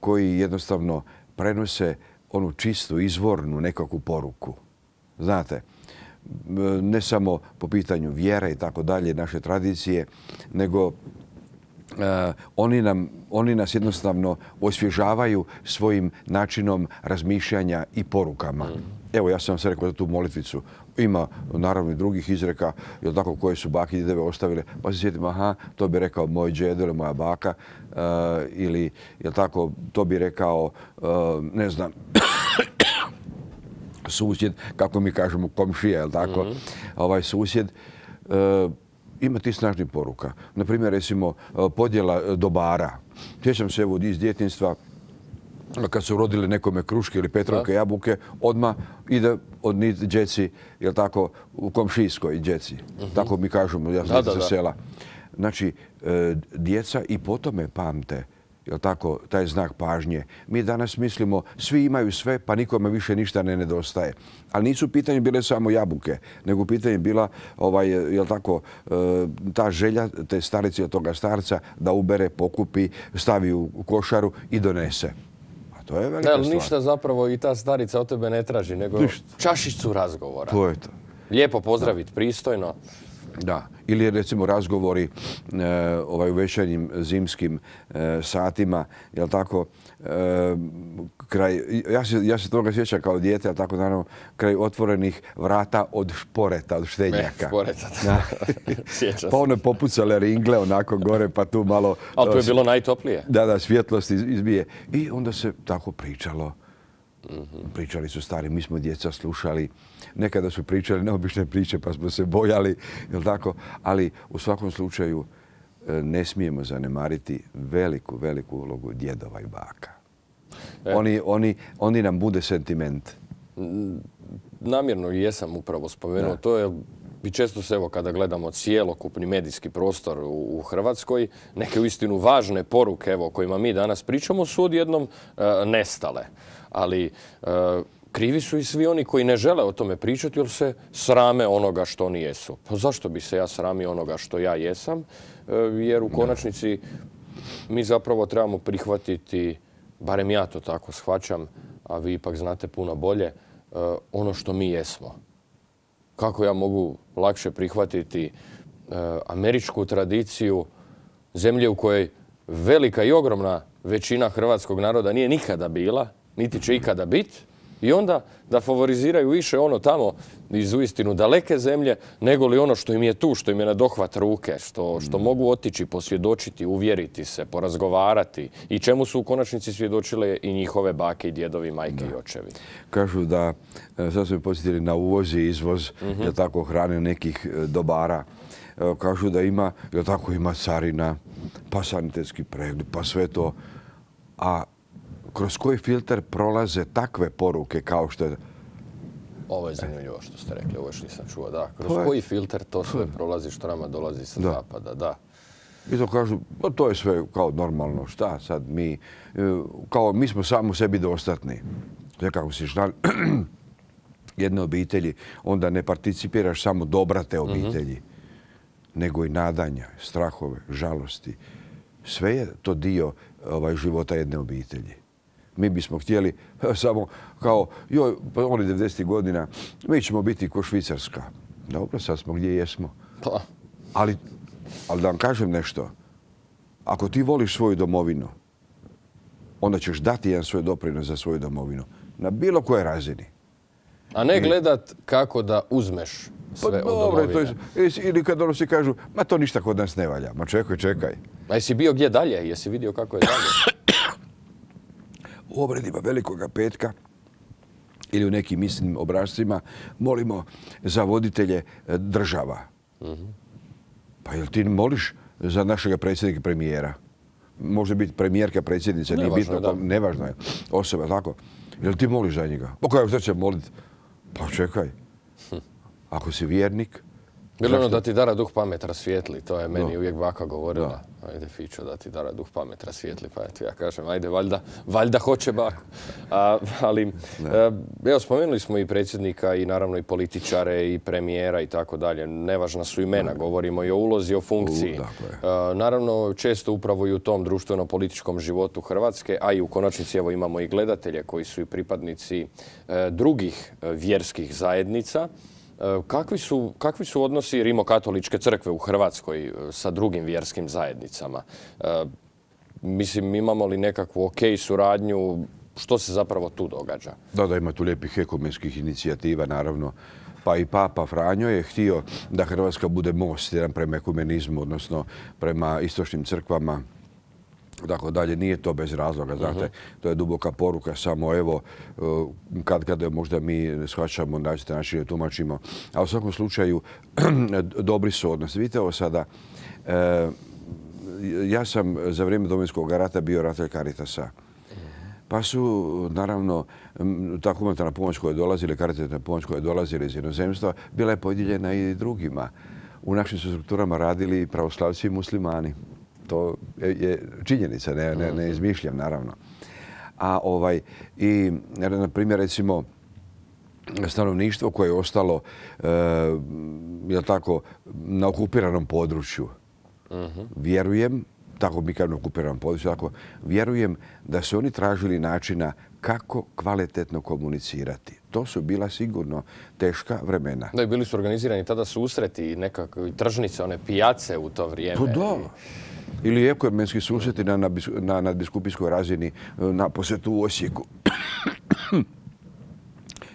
koji jednostavno prenose onu čistu, izvornu nekakvu poruku. Znate, ne samo po pitanju vjere i tako dalje, naše tradicije, nego oni, nam, oni nas jednostavno osvježavaju svojim načinom razmišljanja i porukama. Evo, ja sam se rekao za tu molitvicu. Ima naravno i drugih izreka, jel tako, koje su bake i djedove ostavile. Pa se sjetim, aha, to bi rekao moj djedo ili moja baka. Uh, ili, jel tako, to bi rekao, uh, ne znam, susjed, kako mi kažemo, komšija, jel tako, mm-hmm. ovaj susjed. Uh, ima ti snažnih poruka. Naprimjer, recimo, podjela dobara. Sjećam se evo iz djetinjstva, kad su rodile nekome kruške ili petrovke, jabuke, odmah ide od njih djeci, jel tako, u komšijskoj djeci. Mm-hmm. Tako mi kažemo, ja sam sa sela. Znači, e, djeca i po tome pamte, jel tako, taj znak pažnje. Mi danas mislimo, svi imaju sve, pa nikome više ništa ne nedostaje. Ali nisu u pitanju bile samo jabuke, nego u pitanju bila, ovaj, jel tako, e, ta želja te starice od toga starca da ubere, pokupi, stavi u košaru i donese. To je velika stvar. Ništa zapravo i ta starica od tebe ne traži, nego čašicu razgovora. To je to. Lijepo pozdraviti, pristojno. Da. Ili recimo razgovori e, ovaj, u večernjim zimskim e, satima, jel tako, e, kraj, ja se, ja se toga sjećam kao dijete, jel tako, naravno, kraj otvorenih vrata od šporeta, od štednjaka. E, šporeta, da. Sjećam se. Pa one popucale ringle onako gore, pa tu malo... Ali to je bilo najtoplije. Da, da, svjetlost izbije. I onda se tako pričalo. Mm-hmm. Pričali su stari, mi smo djeca slušali. Nekada su pričali neobične priče pa smo se bojali, jel tako? Ali u svakom slučaju ne smijemo zanemariti veliku, veliku ulogu djedova i baka. E. Oni, oni, oni nam bude sentiment. Namjerno jesam upravo spomenuo. Da. To je i često se, evo, kada gledamo cijelokupni medijski prostor u, u Hrvatskoj, neke uistinu važne poruke, evo, o kojima mi danas pričamo, su odjednom e, nestale. Ali e, krivi su i svi oni koji ne žele o tome pričati jer se srame onoga što oni jesu. Pa zašto bi se ja sramio onoga što ja jesam? E, jer u konačnici mi zapravo trebamo prihvatiti, barem ja to tako shvaćam, a vi ipak znate puno bolje, e, ono što mi jesmo. Kako ja mogu lakše prihvatiti e, američku tradiciju zemlje u kojoj velika i ogromna većina hrvatskog naroda nije nikada bila, niti će ikada biti, i onda da favoriziraju više ono tamo iz uistinu daleke zemlje, nego li ono što im je tu, što im je na dohvat ruke, što, što mogu otići, posvjedočiti, uvjeriti se, porazgovarati i čemu su u konačnici svjedočile i njihove bake i djedovi, majke da. I očevi. Kažu da, sad su mi posjetili na uvoz i izvoz, mm-hmm. je tako, hrane nekih dobara. Kažu da ima, je tako, ima carina, pa sanitetski pregled, pa sve to. A kroz koji filter prolaze takve poruke kao što je... Ovo je zanimljivo što ste rekli, ovo još nisam čuo, da. Kroz je... koji filter to sve prolazi što nama dolazi sa da. Zapada, da. I to kažu, pa to je sve kao normalno, šta sad mi, kao mi smo samo sebi dostatni. Sve kako si znali, jedne obitelji, onda ne participiraš samo dobra te obitelji, mm-hmm. nego i nadanja, strahove, žalosti. Sve je to dio ovaj, života jedne obitelji. Mi bismo htjeli samo kao, joj, pa oni devedesetih godina, mi ćemo biti ko Švicarska. Dobro, sad smo gdje jesmo. Pa. Ali, ali da vam kažem nešto. Ako ti voliš svoju domovinu, onda ćeš dati jedan svoj doprinos za svoju domovinu. Na bilo kojoj razini. A ne gledat kako da uzmeš sve pa, od domovine. To je, ili kad ono si kažu, ma to ništa kod nas ne valja. Ma čekaj, čekaj. A jesi bio gdje dalje? Jesi vidio kako je dalje? U obredima Velikoga petka ili u nekim istim obrascima molimo za voditelje država. Mm-hmm. Pa jel ti moliš za našega predsjednika i premijera? Može biti premijerka, predsjednica, nije bitno, da. Nevažno je osoba, tako. Jel ti moliš za njega? Pa kako šta će moliti? Pa čekaj. Ako si vjernik, Bilo ono da ti dara duh pamet rasvijetli, to je meni uvijek baka govorila. Ajde, Fićo, da ti dara duh pamet rasvijetli, pa eto ja kažem, ajde, valjda, valjda hoće bako. A, ali, a, evo, spomenuli smo i predsjednika i naravno i političare i premijera i tako dalje. Nevažna su imena, govorimo i o ulozi, o funkciji. A, naravno, često upravo i u tom društveno-političkom životu Hrvatske, a i u konačnici evo imamo i gledatelje koji su i pripadnici a, drugih a, vjerskih zajednica. Kakvi su, kakvi su odnosi Rimokatoličke crkve u Hrvatskoj sa drugim vjerskim zajednicama? E, mislim, imamo li nekakvu ok suradnju? Što se zapravo tu događa? Da, da, ima tu lijepih ekumenskih inicijativa, naravno. Pa i Papa Franjo je htio da Hrvatska bude most jedan prema ekumenizmu, odnosno prema istočnim crkvama. Tako dalje, nije to bez razloga, znate, to je duboka poruka, samo evo, kad kada možda mi shvaćamo, način način tumačimo, a u svakom slučaju dobri su odnosi. Vidite ovo sada, ja sam za vrijeme Domovinskog rata bio ravnatelj Caritasa. Pa su, naravno, ta humanitarna pomoć koja je dolazila, karitativna pomoć koja je dolazila iz inozemstva, bila je podijeljena i drugima. U našim su strukturama radili pravoslavci i muslimani. To je činjenica, ne, ne, ne izmišljam, naravno. A ovaj, i, na primjer, recimo, stanovništvo koje je ostalo e, je tako, na okupiranom području, uh-huh. vjerujem, tako mi kažem na okupiranom području, tako, vjerujem da su oni tražili načina kako kvalitetno komunicirati. To su bila sigurno teška vremena. Da, i bili su organizirani tada susreti, nekakve tržnice, one pijace u to vrijeme. Pa da. Ili ekumenski susreti na, na, na nadbiskupijskoj razini na posjetu u Osijeku.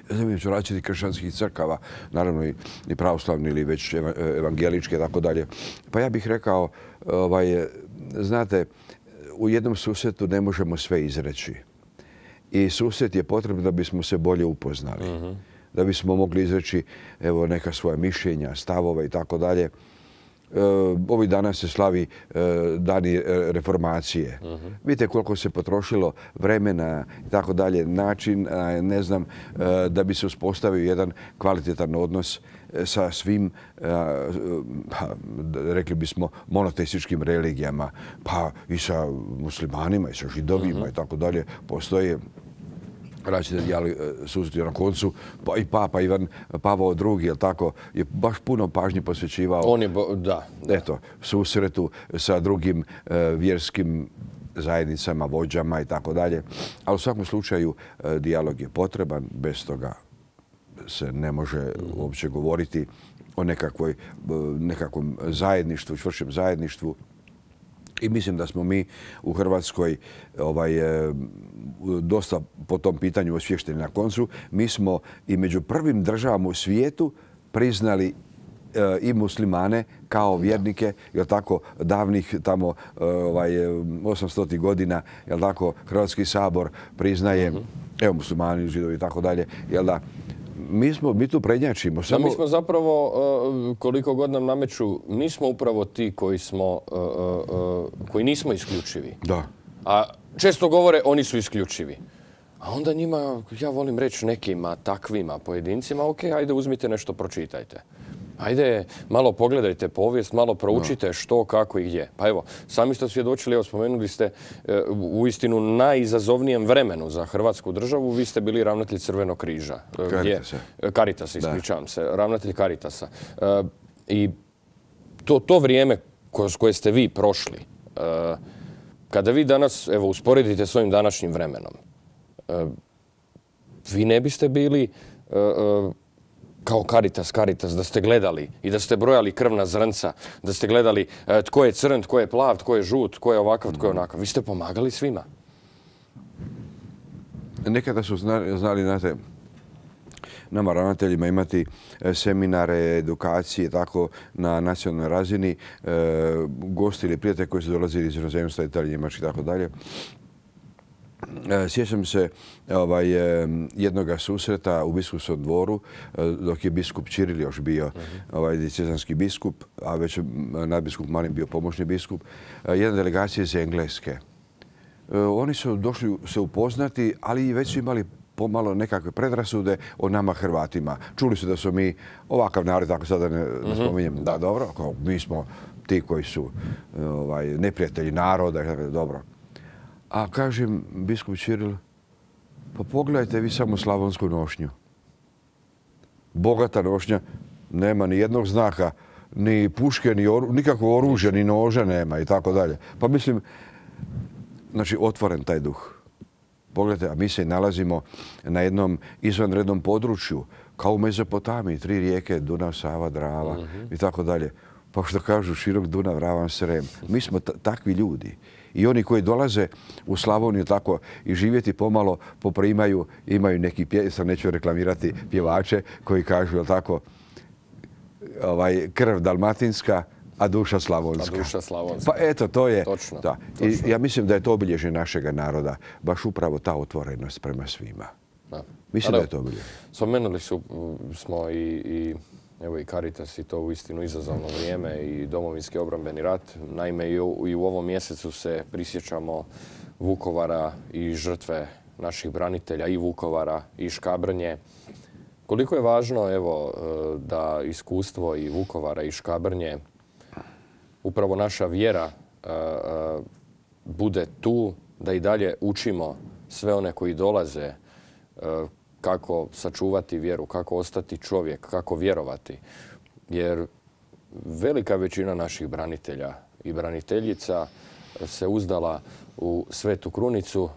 Između različitih kršćanskih crkava, naravno i, i pravoslavni ili već evangeličke i tako dalje. Pa ja bih rekao, ovaj, znate, u jednom susretu ne možemo sve izreći. I susret je potrebno da bismo se bolje upoznali. Uh-huh. Da bismo mogli izreći evo, neka svoja mišljenja, stavove i tako dalje. Ovih dana se slavi dani reformacije. Uh-huh. Vidite koliko se potrošilo vremena i tako dalje, način, ne znam, da bi se uspostavio jedan kvalitetan odnos sa svim, rekli bismo, monoteističkim religijama, pa i sa muslimanima i sa židovima uh-huh. i tako dalje. Postoje različite dijaloge susreti na koncu, pa i Papa Ivan Pavao drugi, jel tako, je baš puno pažnje posvećivao On je bo, da, da. Eto, susretu sa drugim uh, vjerskim zajednicama, vođama i tako dalje. Ali u svakom slučaju uh, dijalog je potreban, bez toga se ne može mm. uopće govoriti o nekakvoj, uh, nekakvom zajedništvu, čvršćem zajedništvu. I mislim da smo mi u Hrvatskoj ovaj, dosta po tom pitanju osviješteni na koncu. Mi smo i među prvim državama u svijetu priznali e, i muslimane kao vjernike, jel tako, davnih tamo ovaj, osamstotih godina, jel tako, Hrvatski sabor priznaje, uh-huh. evo muslimani, židovi i tako dalje, jel da, Mi, smo, mi tu prednjačimo. Samo... Da, mi smo zapravo, koliko god nam nameću, mi smo upravo ti koji, smo, koji nismo isključivi. Da. A često govore oni su isključivi. A onda njima, ja volim reći nekima, takvima, pojedincima, ok, ajde uzmite nešto, pročitajte. Ajde, malo pogledajte povijest, malo proučite no. što, kako i gdje. Pa evo, sami ste svjedočili, evo spomenuli ste u istinu najizazovnijem vremenu za Hrvatsku državu. Vi ste bili ravnatelj Crvenog križa. Caritasa. Caritasa, ispričavam se. Ravnatelj Caritasa. I to, to vrijeme kroz koje ste vi prošli, kada vi danas, evo, usporedite s ovim današnjim vremenom, vi ne biste bili kao Caritas, Caritas, da ste gledali i da ste brojali krvna zrnca, da ste gledali e, tko je crn, tko je plav, tko je žut, tko je ovakav, tko je onakav. Vi ste pomagali svima. Nekada su znali, znali znate, nama ravnateljima imati seminare, edukacije, tako na nacionalnoj razini, e, gosti ili prijatelji koji su dolazili iz inozemstva, Italije, Njemačke i tako dalje. Sjećam se ovaj, jednoga susreta u biskupskom dvoru dok je biskup Čiril još bio ovaj, diecezanski biskup, a već nadbiskup Marin bio pomoćni biskup, jedna delegacija iz Engleske. Oni su došli se upoznati, ali već su imali pomalo nekakve predrasude o nama Hrvatima. Čuli su da su mi ovakav narod, tako sada ne, ne spominjem, da, dobro, kao mi smo ti koji su ovaj, neprijatelji naroda, dobro. A kažem, biskup Ćiril, pa pogledajte vi samo slavonsku nošnju. Bogata nošnja, nema ni jednog znaka, ni puške, ni oru, nikakvo oružje, ni noža nema i tako dalje. Pa mislim, znači, otvoren taj duh. Pogledajte, a mi se nalazimo na jednom izvanrednom području, kao u Mezopotamiji, tri rijeke, Dunav, Sava, Drava i tako dalje. Pa što kažu, širok Dunav, ravan Srem. Mi smo takvi ljudi. I oni koji dolaze u Slavoniju tako i živjeti pomalo poprimaju, imaju neki pje, sam neću reklamirati pjevače koji kažu, jel tako, ovaj, krv dalmatinska, a duša slavonska. A duša slavonska. Pa eto, to je. Točno. Da. I ja mislim da je to obilježje našega naroda, baš upravo ta otvorenost prema svima. Da. Mislim da je to obilježje. Spomenuli su, smo i, i, evo i Caritas i to uistinu izazovno vrijeme i Domovinski obrambeni rat. Naime, i u, i u ovom mjesecu se prisjećamo Vukovara i žrtve naših branitelja i Vukovara i Škabrnje. Koliko je važno, evo, da iskustvo i Vukovara i Škabrnje, upravo naša vjera bude tu, da i dalje učimo sve one koji dolaze kako sačuvati vjeru, kako ostati čovjek, kako vjerovati. Jer velika većina naših branitelja i braniteljica se uzdala u Svetu krunicu,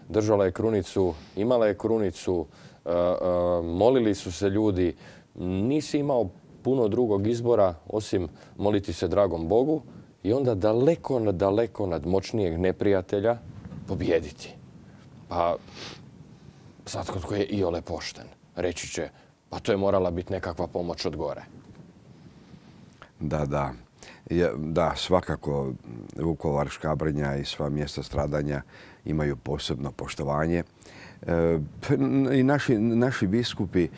držala je krunicu, imala je krunicu, molili su se ljudi. Nisi imao puno drugog izbora osim moliti se dragom Bogu i onda daleko, daleko nad moćnijeg neprijatelja pobijediti. Pa svatko tko je iole pošten reći će, pa to je morala biti nekakva pomoć od gore. Da, da. Da, svakako Vukovar, Škabrnja i sva mjesta stradanja imaju posebno poštovanje. I naši, naši biskupi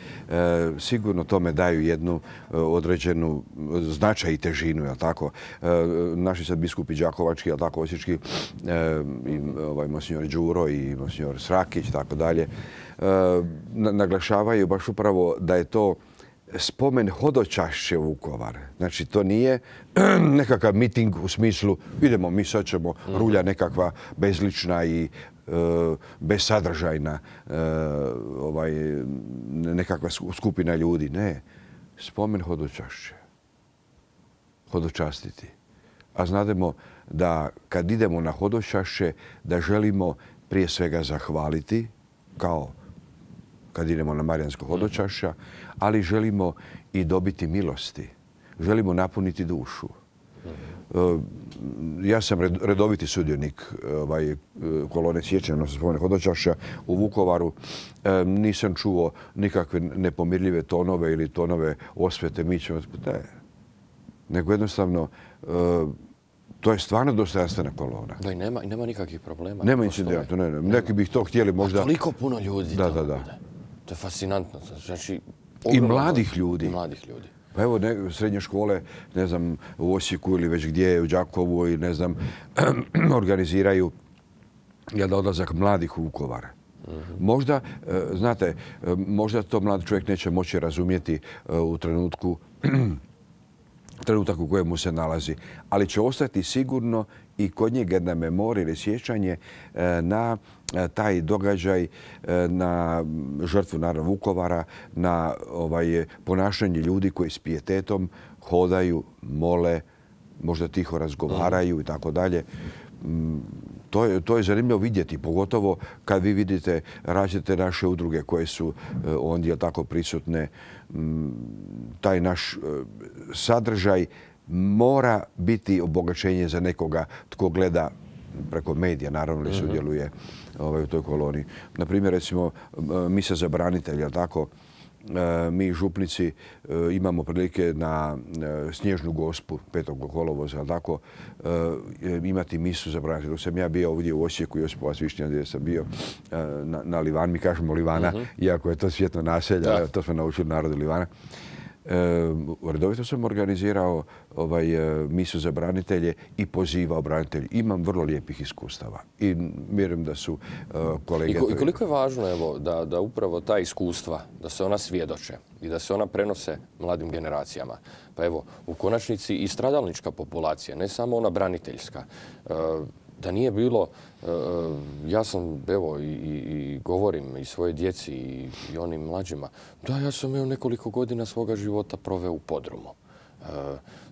sigurno tome daju jednu određenu značaj i težinu, jel tako? Naši sad biskupi Đakovački, jel tako, osječki, i ovaj monsignor Đuro i monsignor Srakić, tako dalje, naglašavaju baš upravo da je to spomen hodočašće Vukovar. Znači, to nije nekakav miting u smislu idemo, mi sad ćemo rulja nekakva bezlična i besadržajna ovaj, nekakva skupina ljudi. Ne, spomen hodočašće. Hodočastiti. A znademo da kad idemo na hodočašće, da želimo prije svega zahvaliti, kao kad idemo na Marijansko hodočašća, ali želimo i dobiti milosti. Želimo napuniti dušu. Ja sam redoviti sudionik ovaj, kolone sjećanja sa spomene hodočašća u Vukovaru. Nisam čuo nikakve nepomirljive tonove ili tonove osvete. Mi ćemo... Ne. Nego jednostavno, to je stvarno dostojanstvena kolona. Da, i nema, i nema nikakvih problema. Nema incidenta. Ne, ne. Neki bi to htjeli možda... A toliko puno ljudi da, tamo da, da. bude. To je fascinantno. Znači, I mladih ljudi. I mladih ljudi. Pa evo, ne, srednje škole, ne znam, u Osijeku ili već gdje, u Đakovu i ne znam, organiziraju jedan odlazak mladih u Vukovar. Mm-hmm. Možda, znate, možda to mlad čovjek neće moći razumjeti u trenutku, trenutak u kojemu se nalazi, ali će ostati sigurno i kod njega jedna memorija ili sjećanje na taj događaj, na žrtvu naravno Vukovara, na ovaj, ponašanje ljudi koji s pijetetom hodaju, mole, možda tiho razgovaraju mm. i tako dalje. To je, to je zanimljivo vidjeti, pogotovo kad vi vidite različite naše udruge koje su ondje tako prisutne. Taj naš sadržaj mora biti obogaćenje za nekoga tko gleda preko medija, naravno li sudjeluje ovaj, u toj koloni. Naprimjer, recimo, misa za branitelja, tako, mi župnici imamo prilike na Snježnu Gospu petog kolovoza, tako, imati misu za branitelja. Dok sam ja bio ovdje u Osijeku, Josipovac Višnja, gdje sam bio na, na Livan, mi kažemo Livana, uh-huh. iako je to svjetno naselje, to smo naučili narodu Livana. redovito sam organizirao ovaj, misu za branitelje i pozivao branitelje. Imam vrlo lijepih iskustava i vjerujem da su kolege... I koliko je važno evo, da, da upravo ta iskustva, da se ona svjedoče i da se ona prenose mladim generacijama. Pa evo, u konačnici i stradalnička populacija, ne samo ona braniteljska, da nije bilo, ja sam, evo, i, i govorim i svoje djeci i, i onim mlađima, da, ja sam evo nekoliko godina svoga života proveo u podrumu.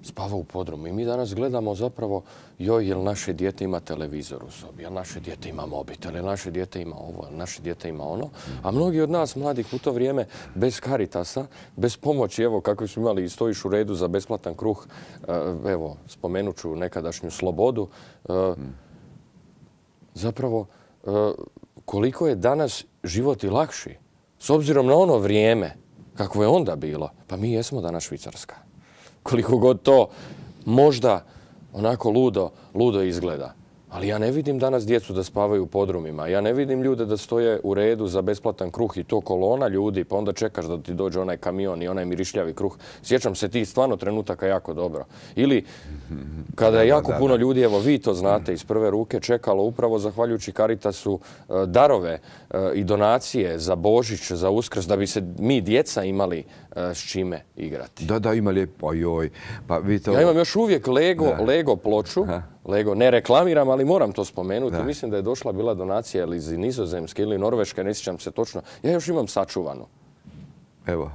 Spavao u podrumu. I mi danas gledamo zapravo, joj, jel naše dijete ima televizor u sobi, jel naše dijete ima mobitel, jel naše dijete ima ovo, jel naše dijete ima ono. A mnogi od nas, mladih, u to vrijeme, bez Caritasa, bez pomoći, evo, kako smo imali i stojiš u redu za besplatan kruh, evo, spomenut ću nekadašnju Slobodu, zapravo, koliko je danas život i lakši, s obzirom na ono vrijeme, kako je onda bilo, pa mi jesmo danas Švicarska. Koliko god to možda onako ludo, ludo izgleda. Ali ja ne vidim danas djecu da spavaju u podrumima. Ja ne vidim ljude da stoje u redu za besplatan kruh i to kolona ljudi, pa onda čekaš da ti dođe onaj kamion i onaj mirišljavi kruh. Sjećam se tih stvarno trenutaka jako dobro. Ili kada je jako puno ljudi, evo vi to znate iz prve ruke, čekalo upravo zahvaljujući Caritasu darove i donacije za Božić, za Uskrs, da bi se mi djeca imali s čime igrati. Da, da, ima lijepo. Joj. Pa vi to... Ja imam još uvijek Lego, Lego ploču. Lego, ne reklamiram, ali moram to spomenuti. Da. Mislim da je došla bila donacija ili iz Nizozemske ili Norveške, ne sjećam se točno. Ja još imam sačuvanu. Evo.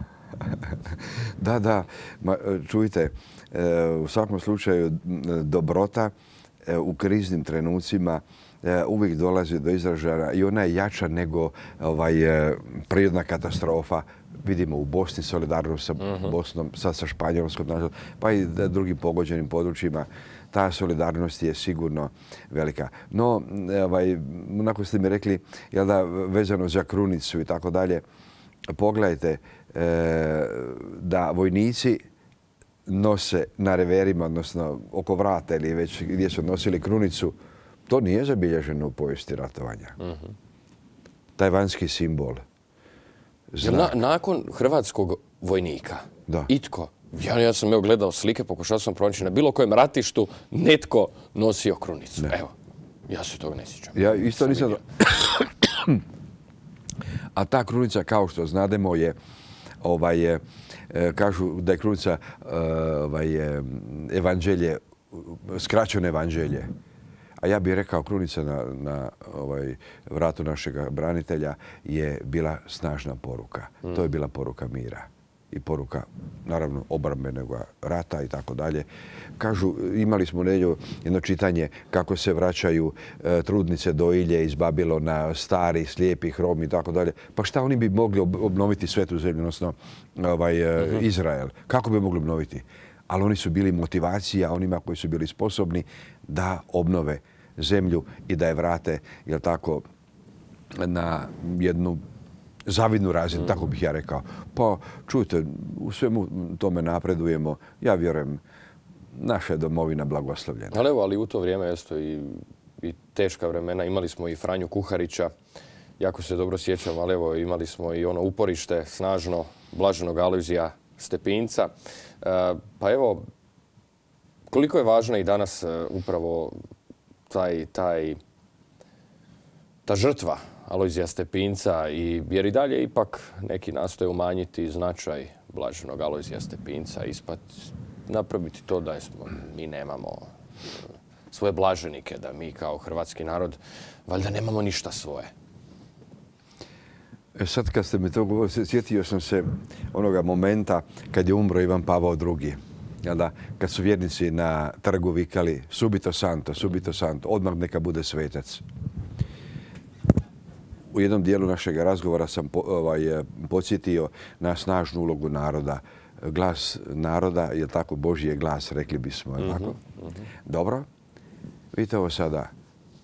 Da, da. Ma, čujte, u svakom slučaju dobrota u kriznim trenucima uvijek dolazi do izražaja i ona je jača nego ovaj, prirodna katastrofa. Vidimo u Bosni solidarnost sa Bosnom, sad sa Španjolskom, pa i drugim pogođenim područjima. Ta solidarnost je sigurno velika. No, ovaj, onako ste mi rekli, jel da, vezano za krunicu i tako dalje, pogledajte e, da vojnici nose na reverima, odnosno oko vrata ili već gdje su nosili krunicu, to nije zabilježeno u povijesti ratovanja. Uh-huh. Taj vanjski simbol. Na, nakon hrvatskog vojnika, da. Itko, ja, ja sam evo gledao slike, pokušao sam pronaći na bilo kojem ratištu, netko nosio krunicu. Ne. Evo, ja se toga ne sjećam. Ja isto nisam... A ta krunica, kao što znademo, je, ovaj, je, kažu da je krunica ovaj, evanđelje, skraćeno evanđelje. A ja bih rekao, krunica na, na ovaj, vratu našeg branitelja je bila snažna poruka. Mm. To je bila poruka mira i poruka, naravno, obrambenog rata i tako dalje. Kažu, imali smo nedjelju jedno čitanje kako se vraćaju e, trudnice dojilje iz Babilona, stari, slijepi, hromi i tako dalje. Pa šta oni bi mogli obnoviti svetu zemlju, odnosno ovaj, e, mm-hmm. Izrael? Kako bi mogli obnoviti? Ali oni su bili motivacija onima koji su bili sposobni da obnove zemlju i da je vrate, jel tako, na jednu zavidnu razinu, mm. tako bih ja rekao. Pa, čujte, u svemu tome napredujemo. Ja vjerujem, naša je domovina blagoslovljena. Ali evo, ali u to vrijeme isto i, i teška vremena. Imali smo i Franju Kuharića, jako se dobro sjećam, ali evo, imali smo i ono uporište snažno blaženog Alojzija Stepinca. E, pa evo, koliko je važna i danas e, upravo taj, taj, ta žrtva Alojzija Stepinca, i, jer i dalje ipak neki nastoje umanjiti značaj blaženog Alojzija Stepinca, ispat, napraviti to da smo, mi nemamo svoje blaženike, da mi kao hrvatski narod valjda nemamo ništa svoje. E sad kad ste mi to govorili, sjetio sam se onoga momenta kad je umro Ivan Pavao drugi. Da, kad su vjernici na trgu vikali subito santo, subito santo, odmah neka bude svetac. U jednom dijelu našeg razgovora sam po, ovaj, podsjetio na snažnu ulogu naroda. Glas naroda je tako Božji je glas, rekli bismo. Mm-hmm, tako? Mm-hmm. Dobro. Vidite ovo sada.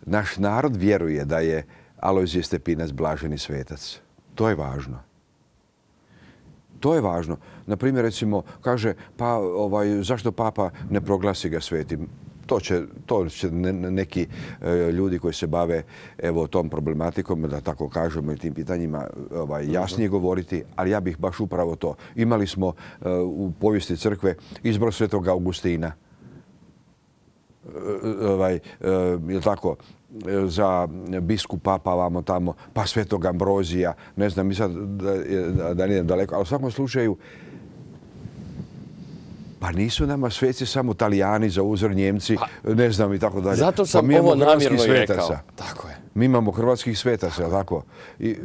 Naš narod vjeruje da je Alojzije Stepinac blaženi svetac. To je važno. To je važno. Naprimjer, recimo, kaže, pa ovaj, zašto papa ne proglasi ga svetim? to će, to će neki ljudi koji se bave evo, tom problematikom, da tako kažemo, i tim pitanjima ovaj, jasnije govoriti, ali ja bih baš upravo to. Imali smo u povijesti crkve izbor Svetog Augustina. Ovaj, je tako, za biskupa, pa vamo tamo, pa Svetog Ambrozija, ne znam, mi sad da, da nije daleko, ali u svakom slučaju pa nisu nama sveci samo Talijani, za uzor Njemci, pa, ne znam i tako dalje. Zato sam pa ovo namjerno i rekao. Tako je. Mi imamo hrvatskih svetaca, tako. I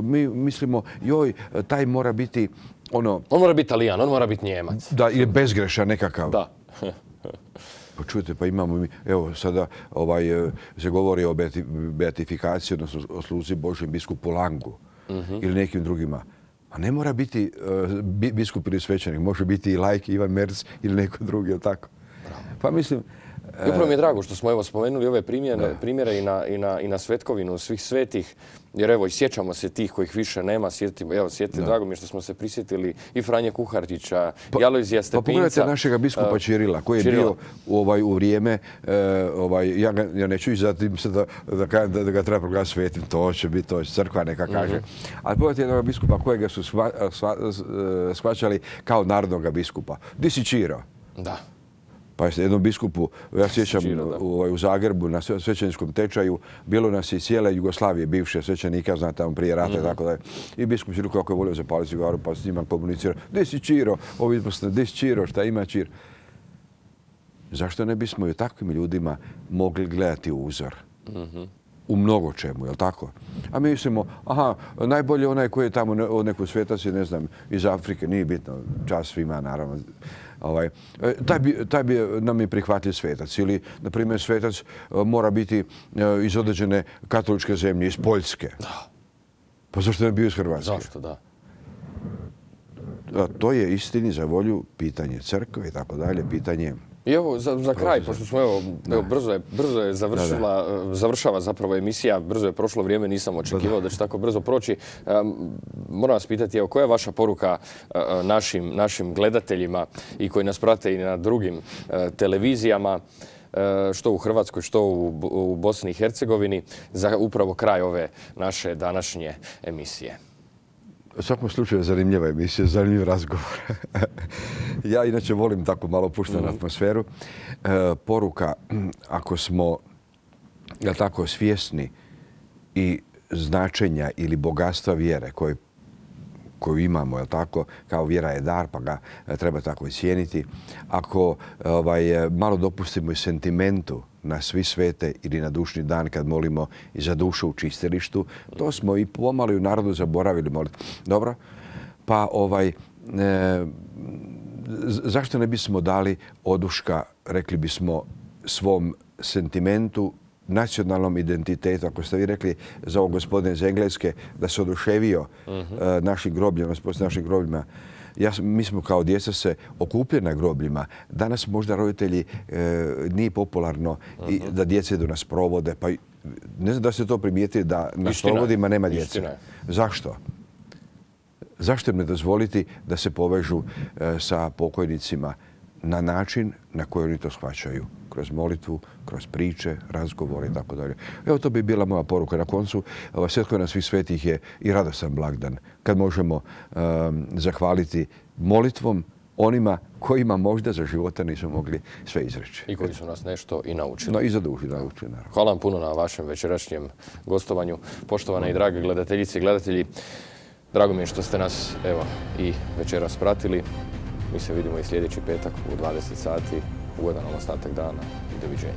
mi mislimo, joj, taj mora biti ono... On mora biti Talijan, on mora biti Njemac. Da, ili bezgrešan nekakav. Da. Pa čujte, pa imamo mi, evo sada ovaj, se govori o beatifikaciji, odnosno o sluzi Božjem biskupu Langu uh-huh. ili nekim drugima. A ne mora biti uh, biskup ili svećenik, može biti i laik Ivan Merz ili neko drugi, ili tako. Bravo. Pa mislim... I upravo mi je drago što smo evo spomenuli ove primjere, primjere i, na, i, na, i na svetkovinu svih svetih, jer evo i sjećamo se tih kojih više nema, sjetimo, evo sjeti, drago mi je što smo se prisjetili i Franje Kuharčića, pa, i Alojzija Stepinca. Pa pogledajte našega biskupa Čirila, koji je Čirila. bio u, ovaj, u vrijeme, uh, ovaj, ja, ga, ja neću izatim se da, da, da, da ga treba proglasiti svetim, to će biti, to će crkva neka kaže. Mm-hmm. Ali pogledajte jednog biskupa kojega su shva, shva, shvaćali kao narodnog biskupa. Di si Čiro? Da. Pa jednom biskupu, ja sjećam u, u Zagrebu na svećeničkom tečaju, bilo nas i cijele Jugoslavije, bivše svećenika, znate, tamo prije rata i mm-hmm. tako da je. I biskup Čiro kako je volio zapaliti cigaru, pa s njima komunicirao. Gdje si Čiro? Ovi smo, gdje si Čiro? Šta ima Čir? Zašto ne bismo i takvim ljudima mogli gledati uzor? Mm-hmm. U mnogo čemu, je li tako? A mi mislimo, aha, najbolje onaj koji je tamo od neku svetac, ne znam, iz Afrike, nije bitno, čast svima, naravno. Ovaj, taj, bi, taj bi nam je prihvatljiv svetac. Ili, na primjer, svetac mora biti iz određene katoličke zemlje, iz Poljske. Da. Pa zašto ne bio iz Hrvatske? Zašto, da. A to je istini za volju pitanje crkve i tako dalje, pitanje... I evo, za, za kraj, pošto smo, evo, evo brzo je, brzo je završila, da, da. završava zapravo emisija, brzo je prošlo vrijeme, nisam očekivao da, da će tako brzo proći. Um, moram vas pitati, evo, koja je vaša poruka uh, našim, našim gledateljima i koji nas prate i na drugim uh, televizijama, uh, što u Hrvatskoj, što u, u Bosni i Hercegovini, za upravo kraj ove naše današnje emisije? U svakom slučaju je zanimljiva emisija, zanimljiv razgovor. Ja inače volim tako malo puštenu mm-hmm. atmosferu. E, poruka, ako smo ja tako svjesni i značenja ili bogatstva vjere koje, koju imamo, je tako, kao vjera je dar, pa ga treba tako i cijeniti. Ako ovaj, malo dopustimo i sentimentu na svi svete ili na dušni dan kad molimo i za dušu u čistilištu, to smo i pomalo i u narodu zaboravili moliti. Dobro? Pa ovaj, e, zašto ne bismo dali oduška, rekli bismo, svom sentimentu, nacionalnom identitetu? Ako ste vi rekli za ovog gospodina iz Engleske da se oduševio uh-huh. našim grobljima, poslije našim grobljima, ja, mi smo kao djeca se okupljeni na grobljima. Danas možda roditelji e, nije popularno uh-huh. i da djece idu na sprovode. Pa ne znam da ste to primijetili da na Istina. sprovodima nema djece. Istina. Zašto? Zašto im ne dozvoliti da se povežu e, sa pokojnicima na način na koji oni to shvaćaju? Kroz molitvu, kroz priče, razgovore i tako dalje. Evo, to bi bila moja poruka. Na koncu, Svetkovina svih svetih je i radostan blagdan kad možemo um, zahvaliti molitvom onima kojima možda za života nisu mogli sve izreći. I koji su nas nešto i naučili. No, i za dušu naučili, naravno. Hvala vam puno na vašem večerašnjem gostovanju. Poštovane i drage gledateljice i gledatelji, drago mi je što ste nas evo, i večeras pratili. Mi se vidimo i sljedeći petak u dvadeset sati. Ugodan ostatak dana i doviđenja.